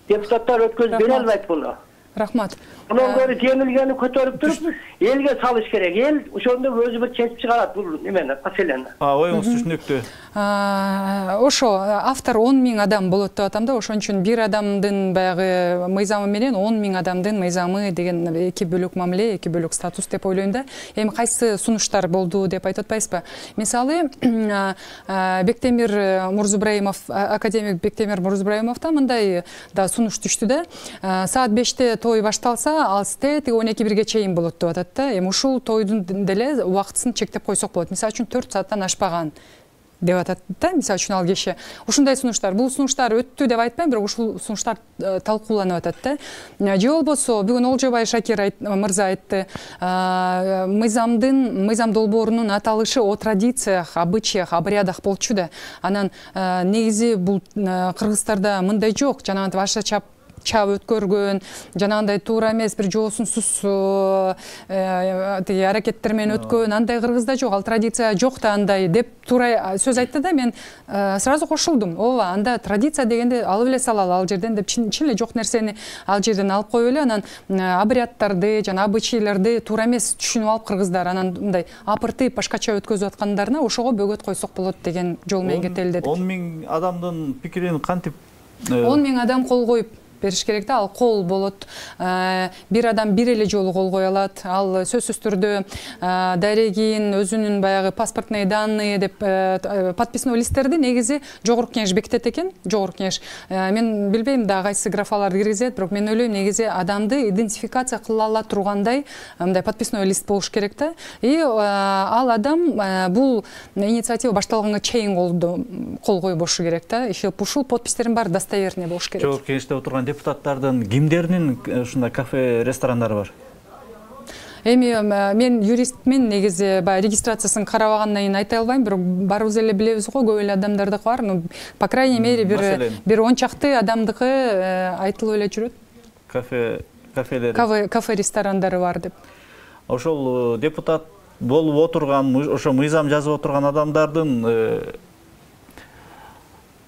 Speaker 14: Депутаттар өткөзүп бере албайт буну.
Speaker 8: Рахмат.
Speaker 14: Мунун көрү демилгени көтөрүп туруп, элге салыш керек. Эл ошондо өзү бир чечип чыгарат бул немени, маселени.
Speaker 1: А, оюңуз түшүнүктүү.
Speaker 8: Ошо автор он миң адам болот деп атам да, ошон үчүн бир адамдын баягы мыйзамы менен он миң адамдын мыйзамы деген эки бөлөк мамиле, эки бөлөк статус деп ойлойм да. Эми кайсы сунуштар болду деп айтып атпайсызбы? Мисалы, Бектемир Мурзубраимов, академик Бектемир Мурзубраимовдон мындай да сунуш түштү да. Саат беште той башталса, ал сте он эки бирге чейин болот деп атат да. Эми ушул тойдун деле убактысын чектеп койсок болот. Мисалы үчүн төрт сааттан ашпаган деп атат да, мисалы үчүн ал киши. Ушундай сунуштар, бул сунуштар өттү деп айтпайм, бирок ушул сунуштар талкууланып атат да. Же болбосо бүгүн Олжобай Шакир мырза айтты, мыйзамдын, мыйзам долбоорунун аталышы о традициях, обычаях, обрядах болчу да. Анан негизи бул кыргыздарда мындай жок, жанагынтип аша чап чап өткөргөн, жанагындай туура эмес бир жоосунсуз тиги аракеттер менен өткөн, андай кыргызда жок, ал традиция жок да андай деп туура сөз айтты да, мен сразу кошулдум. Ооба, анда традиция дегенде алып эле салалы ал жерден деп, чын эле жок нерсени ал жерден алып коюп эле, анан обряддарды, жана обычайларды туура эмес түшүнүп алып кыргыздар анан мындай апыртып башкача өткөзүп аткандарына ошого бөгөт койсок болот деген жол менен кетели дедик.
Speaker 1: он миң адамдын пикирин кантип?
Speaker 8: он миң адам кол коюп бериш керек да, ал кол болот. Бир адам бир эле жолу кол кое алат. Ал сөзсүз түрдө дарегин, өзүнүн баягы паспортный данные деп подписной листтерди негизи жогорку кеңеш бекитет экен. Жогорку кеңеш. Мен билбейм да кайсы графаларды киргизет, бирок мен ойлойм негизи адамды идентификация кыла ала тургандай мындай подписной лист болуш керек да. И ал адам бул инициатива башталганга чейин кол коюп болушу керек да. Ушул подпистердин баары достоверный болуш керек.
Speaker 1: Жогорку кеңеште отурган депутаттардын кимдеринин ушундай кафе, ресторандары бар?
Speaker 8: Эми мен юристмин, негизи баягы регистрациясын карабагандан кийин айта албайм, бирок баарыбыз эле билебиз го, көп эле адамдардыкы бар. Ну, по крайней мере, бир бир он чакты адамдыкы айтылып эле жүрөт.
Speaker 1: Кафе, кафелер.
Speaker 8: Кафе, кафе ресторандары бар деп.
Speaker 1: Ошол депутат болуп отурган, ошо мыйзам жазып отурган адамдардын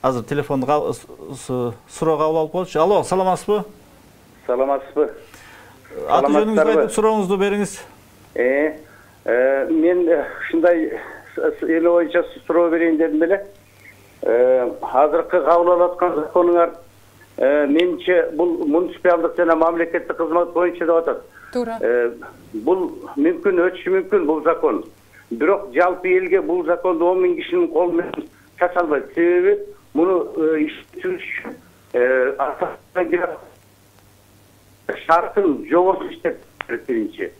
Speaker 1: азыр телефонду суроо кабыл алып коелучу. Алло, саламатсызбы?
Speaker 15: Саламатсызбы?
Speaker 1: Аты жөнүңүздү айтып сурооңузду бериңиз.
Speaker 15: Э, мен ушундай эл боюнча суроо берейин дедим эле. Азыркы кабыл алып аткан законуңар менимче бул муниципалдык жана мамлекеттик кызмат боюнча деп атат.
Speaker 8: Туура.
Speaker 15: Бул мүмкүн өтүшү мүмкүн бул закон. Бирок жалпы элге бул законду он миң кишинин колу менен чача албайт. Себеби муну иштетүү үчүн шартын жобосун иштеп биринчи.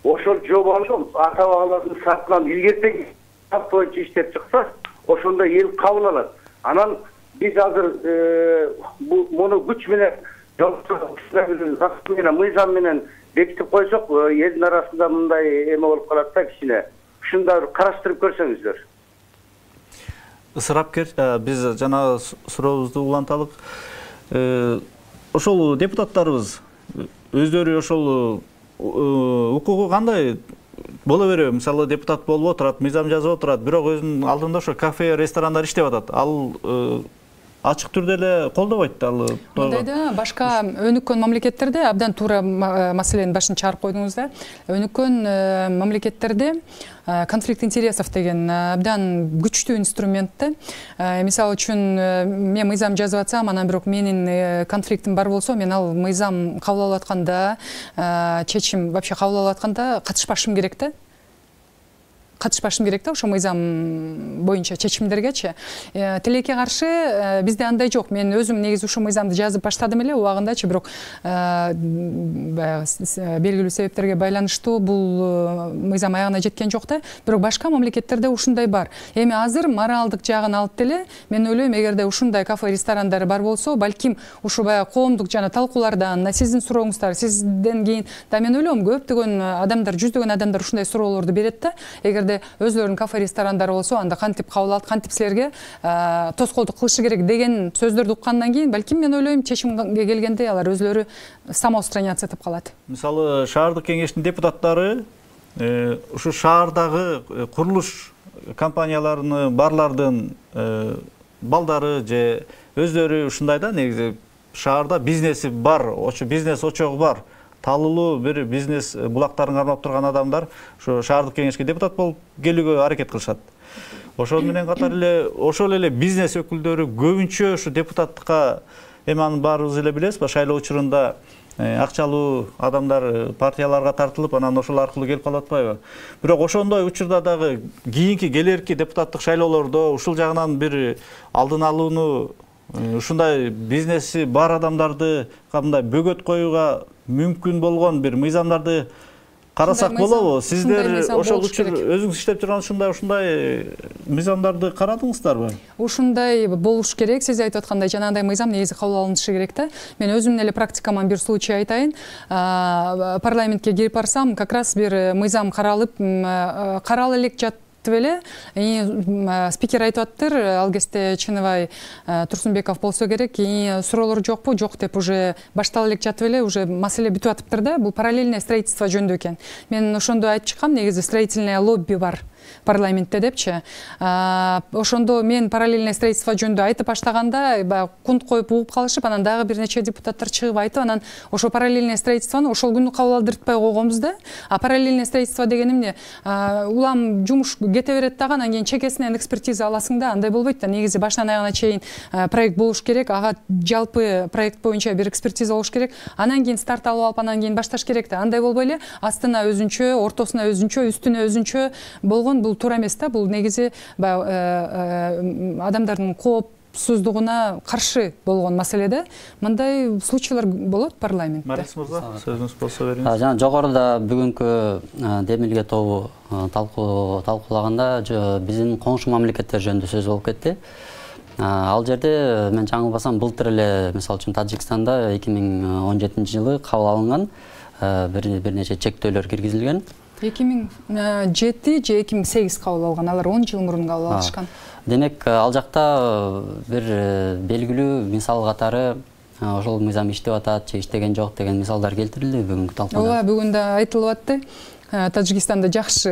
Speaker 15: Ошол жобону ата-бабалардын сартынан илгертен шарт боюнча иштеп чыкса, ошондо эл кабыл алат. Анан биз азыр муну күч менен мыйзам менен бекитип койсок, элдин арасында мындай эме болуп калат да кичине. Ушундай караштырып көрсөңүздөр.
Speaker 1: Ысырапкер, биз жана сурообузду уланталык. Ошол депутаттарыбыз өздөрү ошол укугу кандай боло береби? Мисалы, депутат болуп отурат, мыйзам жазып отурат, бирок өзүнүн алдында ошо кафе, ресторандар иштеп атат. Ал ачык түрдө эле колдобойт ал.
Speaker 8: Мындайда башка өнүккөн мамлекеттерде абдан туура маселенин башын чыгарып койдуңуз да. Өнүккөн мамлекеттерде конфликт интересов деген абдан күчтүү инструмент да. Мисалы үчүн мен мыйзам жазып атсам, анан бирок менин конфликтим бар болсо, мен ал мыйзам кабыл алып атканда, чечим вообще кабыл алып атканда катышпашым керек да. катышпашым керек да ошо мыйзам боюнча чечимдергечи. Тилекке каршы бизде андай жок. Мен өзүм негизи ушул мыйзамды жазып баштадым эле убагындачы, бирок белгилүү себептерге байланыштуу бул мыйзам аягына жеткен жок да. Бирок башка мамлекеттерде ушундай бар. Эми азыр моралдык жагын алып деле мен ойлойм, эгерде ушундай кафе ресторандар бар болсо, балким ушу баягы коомдук жана талкуулардан, сиздин сурооңуздар, сизден кийин да мен ойлойм көптөгөн адамдар, жүздөгөн адамдар ушундай суроолорду берет да. Эгерде өзлөрүнүн кафе ресторандары болсо, анда кантип кабыл алат, кантип силерге тоскоолдук кылышы керек деген сөздөрдү уккандан кийин балким мен ойлойм чечимге келгенде алар өзлөрү самоустраняться этип калат.
Speaker 1: Мисалы, шаардык кеңештин депутаттары ушу шаардагы курулуш компанияларынын, барлардын балдары же өздөрү ушундай да, негизи шаарда бизнеси бар, ошо бизнес очогу бар, талуулуу бир бизнес булактарын кармап турган адамдар ошо шаардык кеңешке депутат болуп келүүгө аракет кылышат. Ошол менен катар эле ошол эле бизнес өкүлдөрү көбүнчө ушу депутаттыкка, эми анын баарыбыз эле билебиз, шайлоо учурунда акчалуу адамдар партияларга тартылып, анан ошол аркылуу келип калып атпайбы? Бирок ошондой учурда дагы кийинки келерки депутаттык шайлоолордо ушул жагынан бир алдын алууну, ушундай бизнеси бар адамдарды кандай бөгөт коюуга мүмкүн болгон бир мыйзамдарды карасак болобу? Сиздер ошол учур өзүңүз иштеп турган ушундай ушундай мыйзамдарды карадыңыздарбы?
Speaker 8: Ушундай болуш керек. Сиз айтып аткандай жанагындай мыйзам негизи кабыл алынышы керек да. Мен өзүмдүн эле практикаман бир случай айтайын. Парламентке кирип барсам, как раз бир мыйзам каралып, карала элек жат эле спикер айтып аттыр, ал кезде Чыныбай Турсунбеков болсо керек, суроолор жокпу? Жок деп уже баштала элек жатып эле, уже маселе бүтүп атыптыр да. Бул параллельное строительство жөнүндө экен. Мен ошондо айтып чыккам, негизи строительное лобби бар парламентте депчи. Ошондо мен параллельное строительство жөнүндө айтып баштаганда баягы кунт коюп угуп калышып, анан дагы бир нече депутаттар чыгып айтып, анан ошо параллельное строительствону ошол күнү кабыл алдыртпай койгонбуз да. А параллельное строительство деген эмне? Улам жумуш кете берет дагы, анан кийин чекесинен экспертиза аласың да, андай болбойт да. Негизи башынан аягына чейин проект болуш керек, ага жалпы проект боюнча бир экспертиза болуш керек, анан кийин старт алып алып, анан кийин башташ керек да. Андай болбой эле астына өзүнчө, ортосуна өзүнчө, үстүнө өзүнчө болгон бул туура эмес да. Бул негизи адамдардын коопсуздугуна каршы болгон маселеде. Мындай случайлар болот парламентте.
Speaker 1: Марис мырза, сөзүңүз болсо бериңиз.
Speaker 5: Жана жогоруда бүгүнкү демилге тобу талкуулаганда биздин коңшу мамлекеттер жөнүндө сөз болуп кетти. Ал жерде мен жаңылбасам былтыр эле мисалы үчүн Тажикстанда эки миң он жетинчи жылы кабыл алынган бир нече чектөөлөр киргизилген.
Speaker 8: эки миң жети же эки миң сегиз кабыл алган, алар он жыл мурун кабыл алышкан.
Speaker 5: Демек, ал жакта бир белгилүү мисал катары ошол мыйзам иштеп атат же иштеген жок деген мисалдар келтирилди бүгүнкү талкууда.
Speaker 8: Ооба, бүгүн да айтылып атты. Тажикстанда жакшы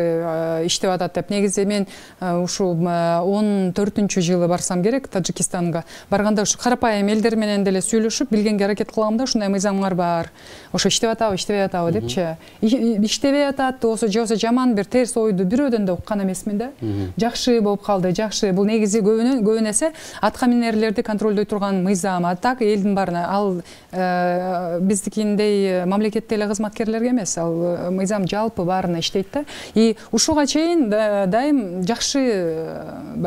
Speaker 8: иштеп атат деп. Негизи мен ушу он төртүнчү жылы барсам керек Тажикстанга. Барганда ушу карапайым элдер менен деле сүйлөшүп, билгенге аракет кылам да, ушундай мыйзамдар бар. Ошо иштеп атабы, иштебей атабы депчи. Иштебей атат, болсо же болсо жаман бир терс ойду бирөөдөн да уккан эмесмин да. Жакшы болуп калды, жакшы. Бул негизи көбүн эсе атка минерлерди контролдой турган мыйзам. А так элдин баарына ал биздикиндей мамлекетте эле кызматкерлерге эмес, ал мыйзам жалпы баарына иштейт да. И ушуга чейин дайым жакшы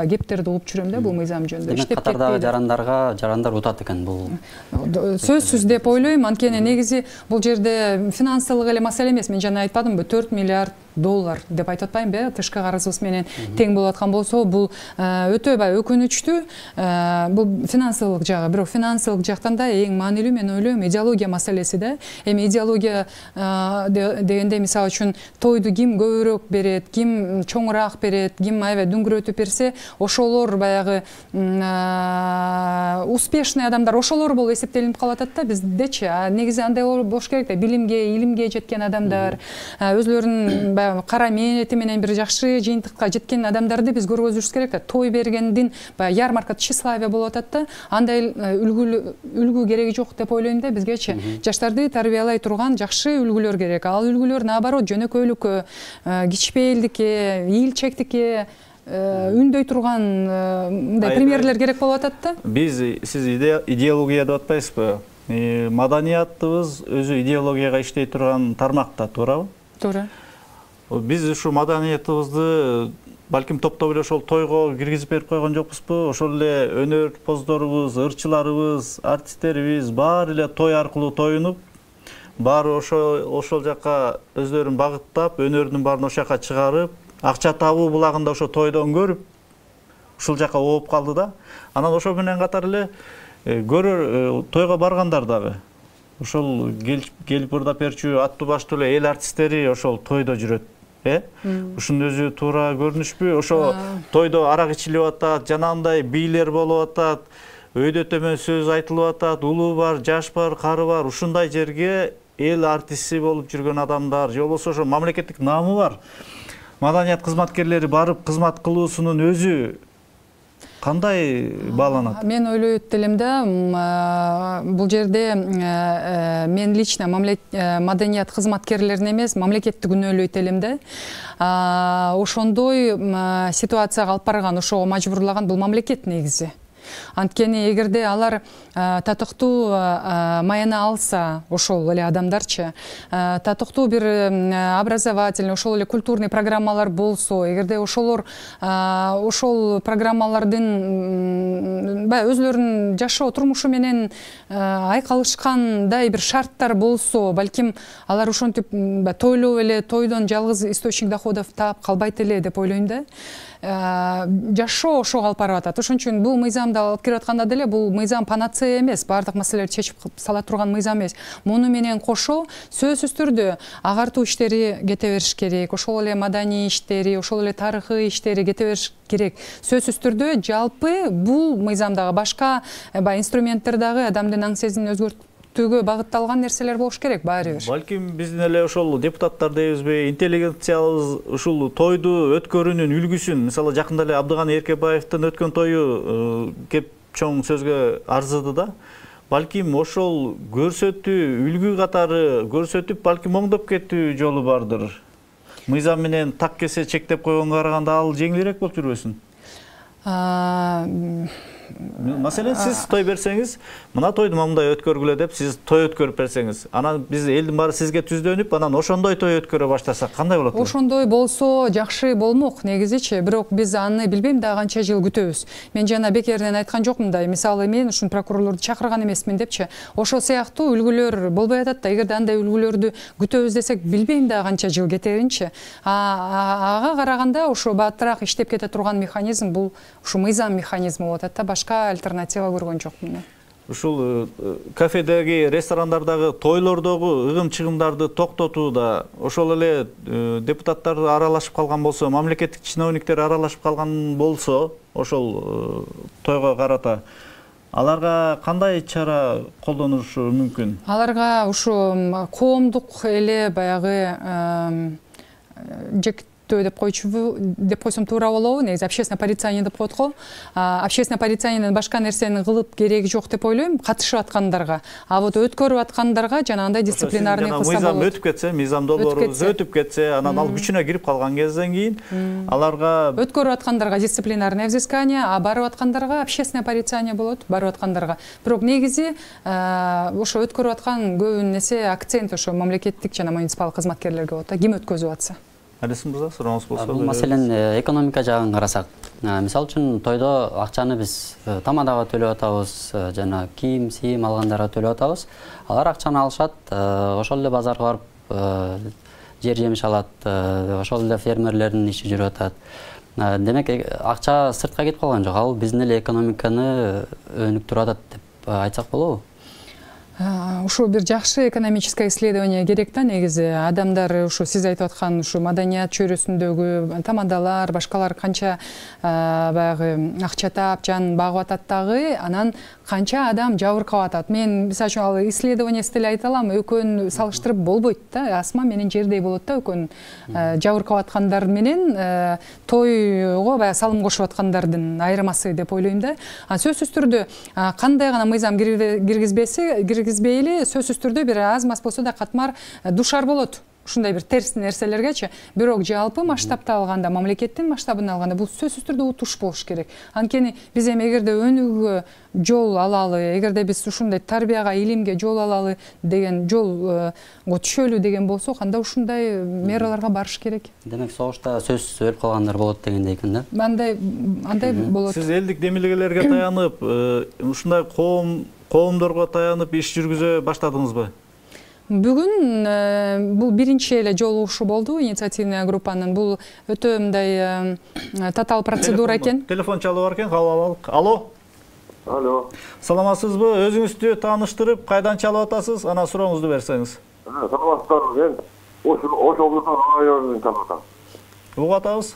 Speaker 8: кептерди угуп жүрөм да бул мыйзам жөнүндө.
Speaker 5: Демек, катардагы жарандарга жарандар утат экен бул.
Speaker 8: Сөзсүз деп ойлойм, анткени негизи бул жерде финансылык эле маселе эмес. Мен жана айтпадымбы, төрт миллиард доллар деп айтып атпаймынбы, тышкы карызыбыз менен тең болуп аткан болсо, бул өтө бай өкүнүчтүү. Бул финансылык жагы, бирок финансылык жактан да эң маанилүү мен ойлойм идеология маселеси да. Эми идеология дегенде мисалы үчүн тойду ким көбүрөөк берет, ким чоңураак берет, ким аябай дүңгүрөтүп берсе, ошолор баягы успешный адамдар, ошолор болуп эсептелинип калып атат да биздечи. Негизи андай болуш керек да, билимге, илимге жеткен адамдар, өзлөрүнүн кара мээнети менен бир жакшы жыйынтыкка жеткен адамдарды биз көргөзүшүбүз керек да. Той бергендин баягы ярмарка тщеславие болуп атат да. Андай үлгү кереги жок деп ойлойм да бизгечи. Жаштарды тарбиялай турган жакшы үлгүлөр керек. Ал үлгүлөр наоборот жөнөкөйлүккө, кичпейилдикке, ийилчектикке үндөй турган мындай примерлер керек болуп атат да.
Speaker 1: Биз сиз идеология деп атпайсызбы? Маданиятыбыз өзү идеологияга иштей турган тармакта, туурабы?
Speaker 8: Туура.
Speaker 1: Биз ушу маданиятыбызды балким топтоп эле ошол тойго киргизип берип койгон жокпузбу? Ошол эле өнөрпоздорубуз, ырчыларыбыз, артисттерибиз баары эле той аркылуу тоюнуп, баары ошол ошол жака өздөрүн багыттап, өнөрүнүн баарын ошол жака чыгарып, акча табуу булагында ошо тойдон көрүп, ушул жака ооп калды да. Анан ошо менен катар эле көрөр тойго баргандар дагы ошол келип ырдап берчү аттуу баштуу эле эл артисттери ошол тойдо жүрөт. Э? Ушунун өзү туура көрүнүшпү? Ошо тойдо арак ичилип атат, жанагындай бийлер болуп атат, өйдө төмөн сөз айтылып атат, улуу бар, жаш бар, кары бар. Ушундай жерге эл артисти болуп жүргөн адамдар, же болбосо ошо мамлекеттик наамы бар маданият кызматкерлери барып кызмат кылуусунун өзү кандай бааланат?
Speaker 8: Мен ойлойт элем да, бул жерде мен лично маданият кызматкерлерин эмес, мамлекетти күнөөлөйт элем да. Ошондой ситуацияга алып барган, ошого мажбурлаган бул мамлекет негизи. Анткени эгерде алар татыктуу маяна алса, ошол эле адамдарчы, татыктуу бир образовательный, ошол эле культурный программалар болсо, эгерде ошолор ошол программалардын баягы өзлөрүнүн жашоо турмушу менен айкалышкандай бир шарттар болсо, балким алар ошентип тойлоп эле тойдон жалгыз источник доходов таап калбайт эле деп ойлойм да. Жашоо ошого алып барып атат. Ошон үчүн бул мыйзамды алып кирип атканда деле бул мыйзам панацея эмес, баардык маселелерди чечип сала турган мыйзам эмес. Муну менен кошо сөзсүз түрдө агартуу иштери кете бериш керек, ошол эле маданий иштери, ошол эле тарыхый иштери кете бериш керек. Сөзсүз түрдө жалпы бул мыйзамдагы башка инструменттер дагы адамдын аң сезимин өзгөртүп түгө багытталган нерселер болуш керек баары бир.
Speaker 1: Балким биздин эле ошол депутаттар дейбизби, интеллигенциябыз ушул тойду өткөрүүнүн үлгүсүн, мисалы жакында эле Абдыганы Эркебаевдин өткөн тою кеп чоң сөзгө арзыды да. Балким ошол көрсөтүү, үлгү катары көрсөтүп, балким оңдоп кетүү жолу бардыр. Мыйзам менен так кесе чектеп койгонго караганда ал жеңилирээк болуп жүрбөсүн? Маселен, сиз той берсеңиз, мына тойду мындай өткөргүлө деп сиз той өткөрүп берсеңиз, анан биз элдин баары сизге түздөнүп, анан ошондой той өткөрө баштасак кандай болот?
Speaker 8: Ошондой болсо жакшы болмок негизичи, бирок биз аны билбейм да канча жыл күтөбүз. Мен жана бекеринен айткан жокмун да, мисалы мен ушун прокурорлорду чакырган эмесмин депчи. Ошол сыяктуу үлгүлөр болбой атат да, эгерде андай үлгүлөрдү күтөбүз десек, билбейм да канча жыл кетеринчи. Ага караганда ошо баатыраак иштеп кете турган механизм бул ушу мыйзам механизми болот да, башка альтернатива көргөн жокмун.
Speaker 1: Ушул кафедеги, ресторандардагы, тойлордогу ыгым-чыгымдарды токтотууда ошол эле депутаттар аралашып калган болсо, мамлекеттик чиновниктер аралашып калган болсо, ошол тойго карата аларга кандай чара колдонушу мүмкүн?
Speaker 8: Аларга ушу коомдук эле баягы жек деп койчубу деп койсом туура болобу, негизи общественное порицание деп коет го. Общественное порицаниеден башка нерсени кылып кереги жок деп ойлойм, катышып аткандарга. А вот өткөрүп аткандарга жанагындай дисциплинарный кылса болот.
Speaker 1: Мыйзам өтүп кетсе, мыйзам долбоорубуз өтүп кетсе, анан ал күчүнө кирип калган кезден кийин аларга
Speaker 8: өткөрүп аткандарга дисциплинарное взыскание, а барып аткандарга общественное порицание болот, барып аткандарга. Бирок негизи ошо өткөрүп аткан көбүн эсе акцент ошо мамлекеттик жана муниципалдык кызматкерлерге болот да, ким өткөзүп атса.
Speaker 1: Алисын мырза, сурооңуз болсо.
Speaker 5: Бул маселен экономика жагын карасак, мисалы үчүн тойдо акчаны биз тамадага төлөп атабыз, жана кийим, сийим алгандарга төлөп атабыз. Алар акчаны алышат, ошол эле базарга барып жер жемиш алат, ошол эле фермерлердин иши жүрүп атат. Демек, акча сыртка кетип калган жок, ал биздин эле экономиканы өнүктүрүп атат деп айтсак болобу?
Speaker 8: Ушу бир жакшы экономическое исследование керек да, негизи адамдар ушу сиз айтып аткан ушу маданият чөйрөсүндөгү тамадалар, башкалар канча баягы акча таап, жанын багып атат дагы, анан канча адам жабыркап атат. Мен мисалы үчүн ал исследование деле айта алам, экөөнү салыштырып болбойт да. Асма менен жердей болот да, экөөнүн жабыркап аткандар менен тойго баягы салым кошуп аткандардын айырмасы деп ойлойм да. Сөзсүз түрдө кандай гана мыйзам киргизбесе киргизбейли, сөзсүз түрдө бир аз мас болсо да катмар душар болот ушундай бир терс нерселергечи. Бирок жалпы масштабта алганда, мамлекеттин масштабын алганда бул сөзсүз түрдө утуш болуш керек. Анткени биз эми эгерде өнүгүүгө жол алалы, эгерде биз ушундай тарбияга, илимге жол алалы деген жолго түшөлү деген болсок, анда ушундай мераларга барыш керек.
Speaker 5: Демек согушта сөзсүз өлүп калгандар болот дегендей экен да.
Speaker 8: Андай андай болот.
Speaker 1: Сиз элдик демилгелерге таянып, ушундай коом коомдорго таянып иш жүргүзө баштадыңызбы?
Speaker 8: Бүгүн бул биринчи эле жолугушуу болду инициативный группанын. Бул өтө мындай татаал процедура экен.
Speaker 1: Телефон чалып бар экен, кабыл алалык. Алло.
Speaker 16: Алло.
Speaker 1: Саламатсызбы? Өзүңүздү тааныштырып, кайдан чалып атасыз? Анан сурооңузду берсеңиз.
Speaker 16: Саламатсыздар. Мен Ош облусунун районунан чалып атам.
Speaker 1: Угуп атабыз?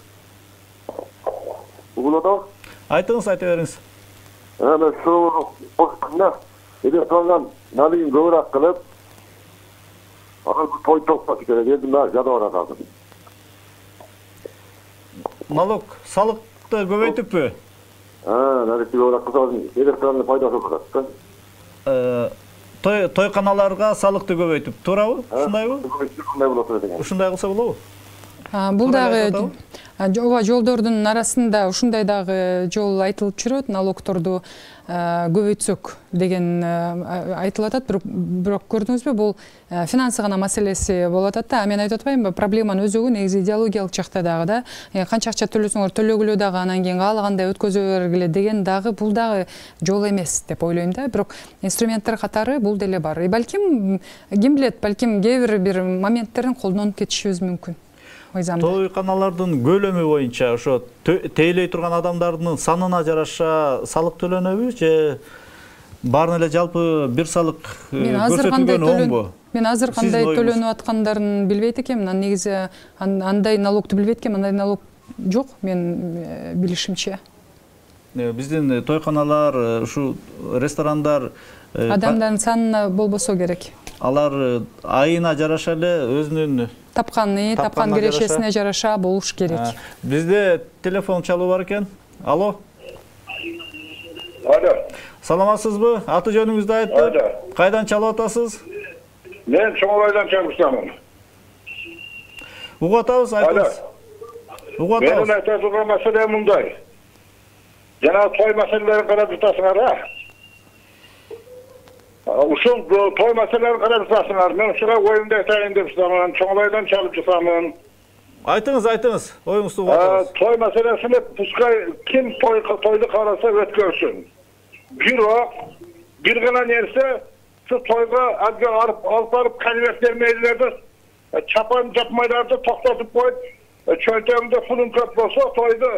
Speaker 16: Угуп атабыз?
Speaker 1: Айтыңыз, айта бериңиз.
Speaker 16: Мен суроону электрондон налигин көбүрөөк кылып, анан той токтотуш керек. Эми мен жада баратам.
Speaker 1: Налог, салыкты көбөйтүппү?
Speaker 16: А, налигти көбүрөөк кылсак, электрондун пайдасы болот да.
Speaker 1: Той тойканаларга салыкты көбөйтүп, туурабы? Ушундайбы?
Speaker 16: Ушундай болот деген.
Speaker 1: Ушундай кылса болобу?
Speaker 8: Бул дагы ооба жолдордун арасында ушундай дагы жол айтылып жүрөт, налогторду көбөйтсөк деген айтылып атат, бирок көрдүңүзбү, бул финансы гана маселеси болуп атат да. Мен айтып атпаймынбы, проблеманын өзөгү негизи идеологиялык жакта дагы да. Канча акча төлөсөңөр төлөгүлө дагы анан кийин каалагандай өткөзө бергиле деген дагы бул дагы жол эмес деп ойлойм да. Бирок инструменттер катары бул деле бар. И балким ким билет, балким кээ бир бир моменттерин колдонуп кетишибиз мүмкүн.
Speaker 1: Тойканалардын көлөмү боюнча ошо тейлей турган адамдардын санына жараша салык төлөнөбү же баарын эле жалпы бир салык көрсөтүлгөн оңбу?
Speaker 8: Мен азыр кандай төлөнүп аткандарын билбейт экенмин. Негизи андай налогду билбейт экенмин, андай налог жок мен билишимче.
Speaker 1: Биздин тойканалар, ушу ресторандар
Speaker 8: адамдардын санына болбосо керек.
Speaker 1: Алар айына жараша эле өзүнүн
Speaker 8: тапканы, тапкан кирешесине жараша болуш керек.
Speaker 1: Бизде телефон чалуу бар экен. Алло.
Speaker 16: Алло.
Speaker 1: Саламатсызбы? Аты жөнүңүздү айтып, кайдан чалып атасыз?
Speaker 16: Мен Чоңойдон чалып атам.
Speaker 1: Угуп атабыз, айтыңыз. Угуп атабыз.
Speaker 16: Менин айта турган маселе мындай. Жана той маселелерин карап жатасыңар, а? Ушул той маселелерин карап жатасыңар. Мен ушуга оюмду айтайын деп жатамын. Чоңойдон чалып жатамын.
Speaker 1: Айтыңыз, айтыңыз. Оюңузду угуп атабыз.
Speaker 16: Той маселесине пускай ким тойду караса өткөрсүн. Бирок бир гана нерсе, şu toyga alып барып конверт бермейлерди, чапан жапмайларды токтотуп коюп, чөнтөгүндө пулун көп болсо, тойду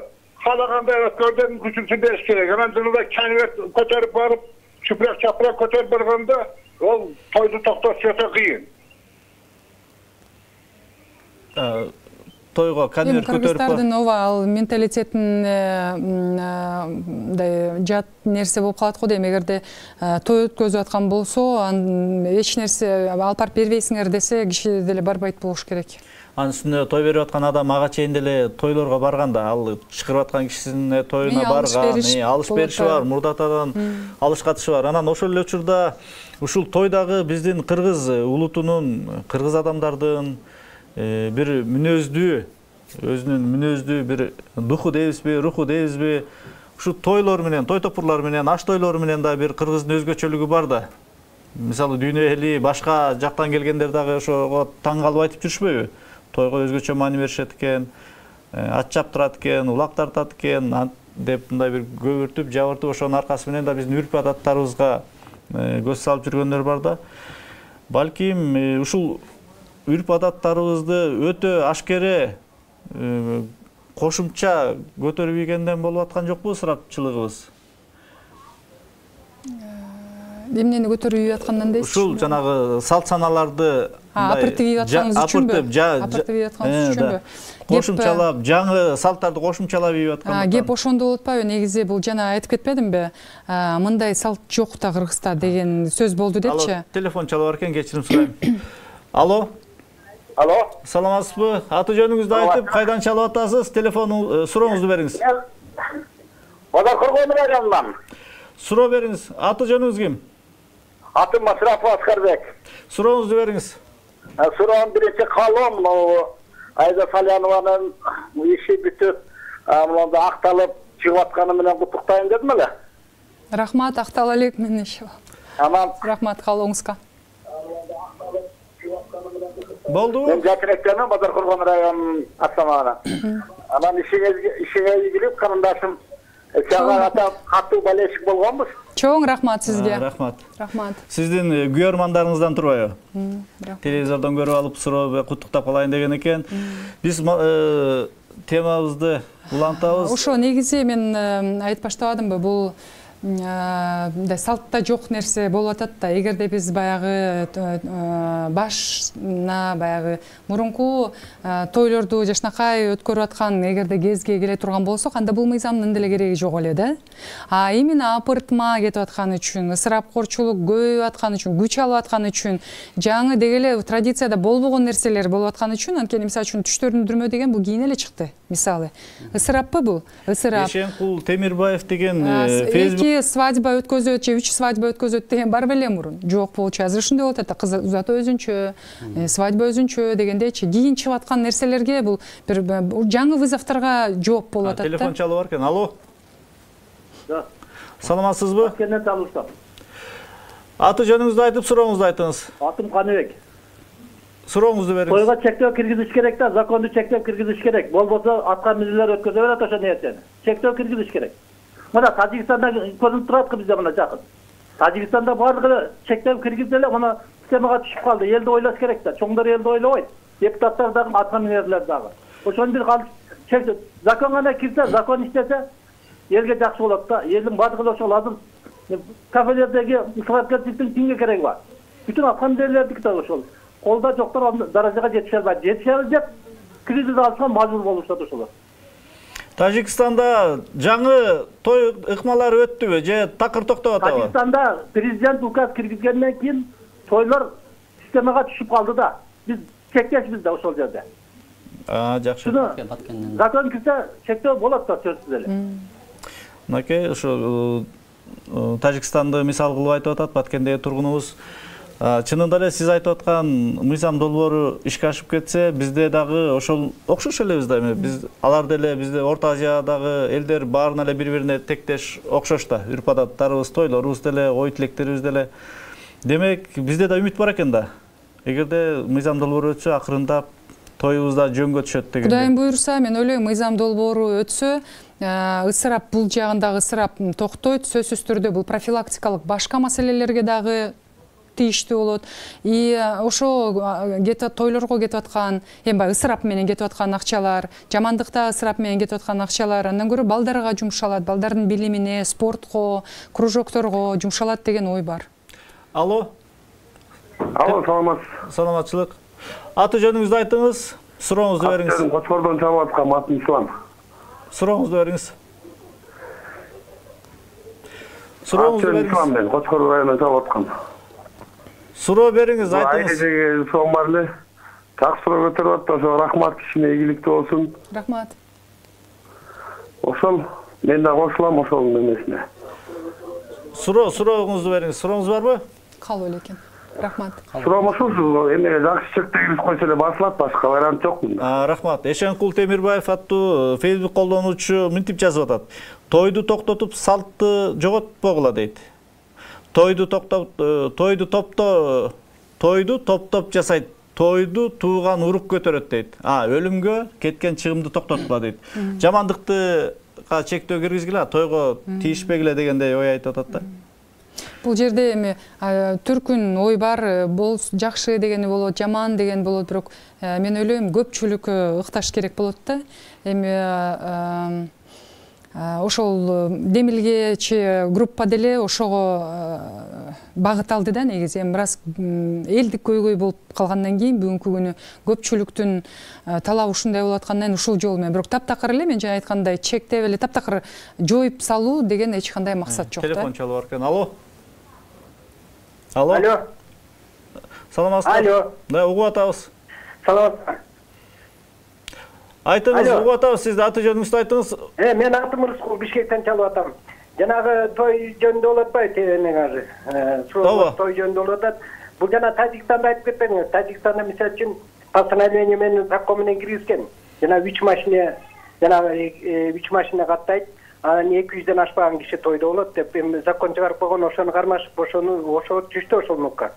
Speaker 16: каалагандай өткөрдөн мүмкүнчүлүгүн бериш керек. Анан жылда конверт көтөрүп барып, чүпрөк чапрак көтөрүп барганда, ол тойду токтотуш өтө кыйын.
Speaker 1: Тойго конверт көтөрүп
Speaker 8: кыргыздардын ооба ал менталитетин жат нерсе болуп калат го дейм. Эгерде той өткөзүп аткан болсо, эч нерсе алып барып бербейсиңер десе, киши деле барбайт болуш керек.
Speaker 1: Анын үстүнө той берип аткан адам ага чейин деле тойлорго барганда, ал чакырып аткан кишисине тоюна барган, алыш бериши бар, мурдатадан алыш катышы бар. Анан ошол эле учурда ушул тойдагы биздин кыргыз улутунун, кыргыз адамдардын бир мүнөздүү, өзүнүн мүнөздүү бир духу дейбизби, руху дейбизби, ушу тойлор менен, той топурлар менен, аш тойлор менен да бир кыргыздын өзгөчөлүгү бар да. Мисалы дүйнө эли башка жактан келгендер дагы ошого таң калып айтып жүрүшпөйбү? Тойго өзгөчө маани беришет экен, ат чаптырат экен, улак тартат экен деп мындай бир көбүртүп, жабыртып, ошонун аркасы менен да биздин үрп адаттарыбызга көз салып жүргөндөр бар да. Балким ушул үрп адаттарыбызды өтө ашкере кошумча көтөрүп ийгенден болуп аткан жокпу ысырапчылыгыбыз?
Speaker 8: Эмнени көтөрүп ийип аткандан дейсиз?
Speaker 1: Ушул жанагы салт саналарды
Speaker 8: апыртып ийип атканыңыз үчүнбү? Апыртып ийип атканыңыз үчүнбү?
Speaker 1: Кошумчалап, жаңы салттарды кошумчалап ийип аткан.
Speaker 8: Кеп ошондо болуп атпайбы? Негизи бул жана айтып кетпедимби? Мындай салт жок да Кыргызда деген сөз болду депчи.
Speaker 1: Телефон чалып бар экен, кечирим сурайм. Алло.
Speaker 16: Алло.
Speaker 1: Саламатсызбы? Аты жөнүңүздү айтып, кайдан чалып атасыз? Телефон сурооңузду бериңиз.
Speaker 16: Базар Коргондун районунан.
Speaker 1: Суроо бериңиз. Аты жөнүңүз ким?
Speaker 16: Атым Масрапов Аскарбек.
Speaker 1: Сурооңузду бериңиз.
Speaker 15: Суроом биринчи калом, Айда Салянованын иши бүтүп, мында акталып чыгып атканы менен куттуктайм дедим эле.
Speaker 8: Рахмат, актала элек мен иши.
Speaker 15: Анан
Speaker 8: рахмат калооңузга.
Speaker 1: Болду.
Speaker 15: Мен Жакиректен Базар Курган районунун Астамагына. Анан ишиңизге ишиңе ийгилик карындашым. Чага ата катуу балешик болгонбуз.
Speaker 8: Чоң рахмат сизге.
Speaker 1: Рахмат.
Speaker 8: Рахмат.
Speaker 1: Сиздин күйөрмандарыңыздан турбайбы? Телевизордон көрүп алып суроо куттуктап калайын деген экен. Биз темабызды улантабыз.
Speaker 8: Ошо негизи мен айтып баштабадымбы, бул мындай салтта жок нерсе болуп атат да. Эгерде биз баягы башна баягы мурунку тойлорду жашнакай өткөрүп аткан эгерде кезге келе турган болсок, анда бул мыйзамдын деле кереги жок эле да. А именно апыртма кетип аткан үчүн, ысырапкорчулук көбөйүп аткан үчүн, күч алып аткан үчүн, жаңы деги эле традицияда болбогон нерселер болуп аткан үчүн, анткени мисалы үчүн түштөрдүн дүрмө деген бул кийин эле чыкты. Мисалы, ысыраппы бул? Ысырап.
Speaker 1: Ешенкул Темирбаев деген Facebook
Speaker 8: свадьба өткөзөт же үч свадьба өткөзөт деген бар беле мурун? Жок болчу. Азыр ушундай болуп атат. Кыз узатуу өзүнчө, свадьба өзүнчө дегендейчи. Кийин чыгып аткан нерселерге бул бир жаңы вызовторго жооп болуп атат да.
Speaker 1: Телефон чалып бар экен. Алло.
Speaker 17: Да.
Speaker 1: Саламатсызбы?
Speaker 17: Кенен табылсам.
Speaker 1: Аты жөнүңүздү айтып, сурооңузду айтыңыз.
Speaker 17: Атым Каныбек.
Speaker 1: Сурооңузду бериңиз.
Speaker 17: Тойго чектөө киргизиш керек да, законду чектеп киргизиш керек. Болбосо атка минелер өткөзө берет ошо нерсени. Чектөө киргизиш керек. Мына Тажикстанда көрүнүп турат бизде мына жакын. Тажикстанда баардыгы чектеп киргизди эле, мына системага түшүп калды. Элди ойлош керек да. Чоңдор элди ойлобойт. Депутаттар дагы, атка минелер дагы. Ошону бир калып чектеп, закон гана кирсе, закон иштесе, элге жакшы болот да. Элдин баардыгы ошол азыр кафелердеги ысырапкерчиликтин кимге кереги бар? Бүтүн атка минелердики да ошол. Колда жоктор даражага жетише албайт. Жетише албайт, кризис алышка мажбур болушат ошолор.
Speaker 1: Тажикстанда жаңы той ыкмалары өттүбү же такыр токтоп атабы?
Speaker 17: Тажикстанда президент указ киргизгенден кийин тойлор системага түшүп калды да. Биз чектешбиз да ошол жерде.
Speaker 1: А, жакшы.
Speaker 17: Закон кирсе чектөө болот да сөзсүз эле.
Speaker 1: Мынакей ошо Тажикстанды мисал кылып айтып атат Баткендеги тургунубуз. Чынында эле сиз айтып аткан мыйзам долбоору ишке ашып кетсе, бизде дагы ошол окшош элебиз да. Биз алар деле бизде Орто Азиядагы элдер баарына эле бири-бирине тектеш окшош да. Үрп-адаттарыбыз, тойлорубуз деле, ой тилектерибиз деле. Демек, бизде да үмүт бар экен да. Эгерде мыйзам долбоору өтсө, акырындап тоюбуз да жөнгө түшөт деген.
Speaker 8: Кудайым буйрса, мен ойлойм, мыйзам долбоору өтсө, ысырап бул жагындагы ысырап токтойт, сөзсүз түрдө бул профилактикалык башка маселелерге дагы тийиштүү болот. И ошо кетип тойлорго кетип аткан, эми баягы ысырап менен кетип аткан акчалар, жамандыкта ысырап менен кетип аткан акчалар андан көрө балдарга жумшалат, балдардын билимине, спортко, кружокторго жумшалат деген ой бар.
Speaker 1: Алло.
Speaker 16: Алло, саламатсыз.
Speaker 1: Саламатчылык. Аты жөнүңүздү айтыңыз, сурооңузду бериңиз.
Speaker 16: Кочкордон чалып аткан атым Ислам.
Speaker 1: Сурооңузду бериңиз. Сурооңузду бериңиз.
Speaker 16: Ислам мен Кочкор районунан чалып аткан.
Speaker 1: Суроо бериңиз, айтыңыз.
Speaker 16: Айдеги суроом бар эле. Так суроо көтөрүп атты, ошо рахмат, кишине ийгиликтүү болсун.
Speaker 8: Рахмат.
Speaker 16: Ошол мен да кошулам ошол эмесине.
Speaker 1: Суроо, сурооңузду бериңиз. Сурооңуз барбы?
Speaker 8: Калып эле экен. Рахмат.
Speaker 16: Суроом ушул, эмеге жакшы чектегиз койсо эле басылат, башка вариант жок мында.
Speaker 1: Рахмат. Ешенкул Темирбаев аттуу Facebook колдонуучу мынтип жазып атат. Тойду токтотуп, салтты жоготпогула дейт. Тойду токтоп, тойду топто, тойду топ-топ жасайт. Тойду тууган урук көтөрөт дейт. А, өлүмгө кеткен чыгымды токтоткула дейт. Жамандыкты чектөө киргизгиле, тойго тийишпегиле дегендей ой айтып атат да.
Speaker 8: Бул жерде эми түркүн ой бар, бол жакшы дегени болот, жаман деген болот, бирок мен ойлойм көпчүлүк ыкташ керек болот да. Эми ошол демилгечи группа деле ошого багыт алды да негизи. Эми раз элдик көйгөй болуп калгандан кийин бүгүнкү күнү көпчүлүктүн талабы ушундай болуп аткандан ушул жол менен, бирок таптакыр эле мен жана айткандай чектеп эле таптакыр жоюп салуу деген эч кандай максат жок да.
Speaker 1: Телефон чалып бар экен. Алло. Алло.
Speaker 17: Алло.
Speaker 1: Саламатсызбы?
Speaker 17: Алло.
Speaker 1: Да, угуп атабыз.
Speaker 17: Саламатсызбы?
Speaker 1: Айтыңыз, угуп атабыз, сизди аты жөнүңүздү айтыңыз.
Speaker 17: Э, мен атым Рыскул, Бишкектен чалып атам. Жанагы той жөнүндө болуп атпайбы, эмең азыр. Суроо той жөнүндө болуп атат.
Speaker 14: Бул жана Тажикстанда айтып кетпедиңиз. Тажикстанда мисалы үчүн постановление менен закон менен киргизген. Жана үч машина жана үч машина каттайт. Анан эки жүздөн ашпаган киши тойдо болот деп эми закон чыгарып койгон, ошону кармашып ошону ошо түштү ошол нукка.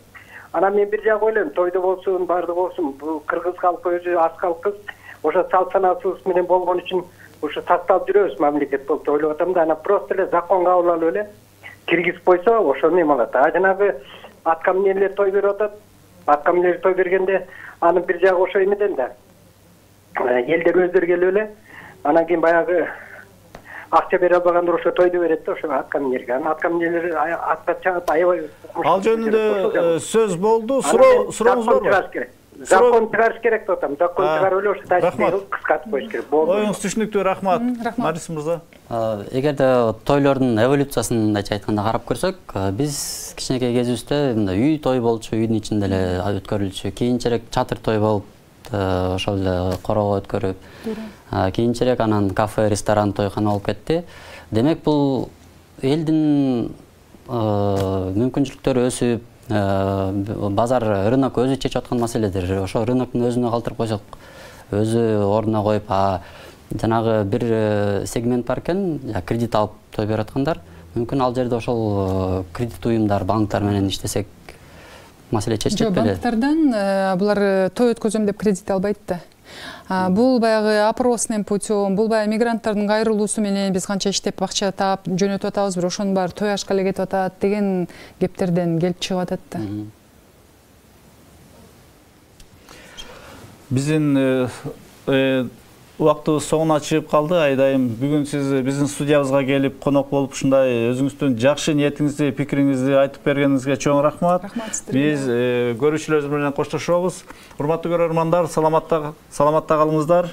Speaker 14: Анан мен бир жагы ойлойм, тойдо болсун, баардыгы болсун, бул кыргыз халкы өзү аз калкыбыз, ошо салт санаасыбыз менен болгон үчүн ошо сакталып жүрөбүз мамлекет болуп деп ойлоп атам да. Анан просто эле закон кабыл алып эле киргизип койсо ошону эме алат. А жанагы атка минерлер той берип атат. Атка минерлер той бергенде анын бир жагы ошо эмеден да. Элдер өздөрү келип эле анан кийин баягы акча бере албагандыр ошо тойду берет да ошо атка минерге. Анан атка минерлер атка чыгып аябай
Speaker 1: ал жөнүндө сөз болду. Суроо сурооңуз барбы?
Speaker 14: Закон чыгарыш керек деп атам. Закон чыгарып эле ошо тажикти кыскартып коюш керек.
Speaker 1: Оюңуз түшүнүктүү, рахмат. Марис мырза.
Speaker 5: Эгерде тойлордун эволюциясын айтканда карап көрсөк, биз кичинекей кезибизде мындай үй той болчу, үйдүн ичинде эле өткөрүлчү. Кийинчерээк чатыр той болуп, ошол эле корого өткөрүп, кийинчерээк анан кафе, ресторан, тойкана болуп кетти. Демек бул элдин мүмкүнчүлүктөрү өсүп, базар, рынок өзү чечип аткан маселедер. Ошо рыноктун өзүнө калтырып койсок, өзү ордуна коюп, а жанагы бир сегмент бар экен, кредит алып той берип аткандар. Мүмкүн ал жерде ошол кредит уюмдар, банктар менен иштесек маселе чечилет беле?
Speaker 8: Банктардан булар той өткөзөм деп кредит албайт да. Бул баягы опросный путем, бул баягы мигранттардын кайрылуусу менен биз канча иштеп акча таап жөнөтүп атабыз, бирок ошонун баары той ашка эле кетип атат деген кептерден келип чыгып атат да.
Speaker 1: Биздин убактыбыз соңуна чыгып калды. Айдайым, бүгүн сиз биздин студиябызга келип конок болуп ушундай өзүңүздүн жакшы ниетиңизди, пикириңизди айтып бергениңизге чоң рахмат. Биз көрүүчүлөрүбүз менен коштошобуз. Урматтуу көрөрмандар, саламатта саламатта калыңыздар.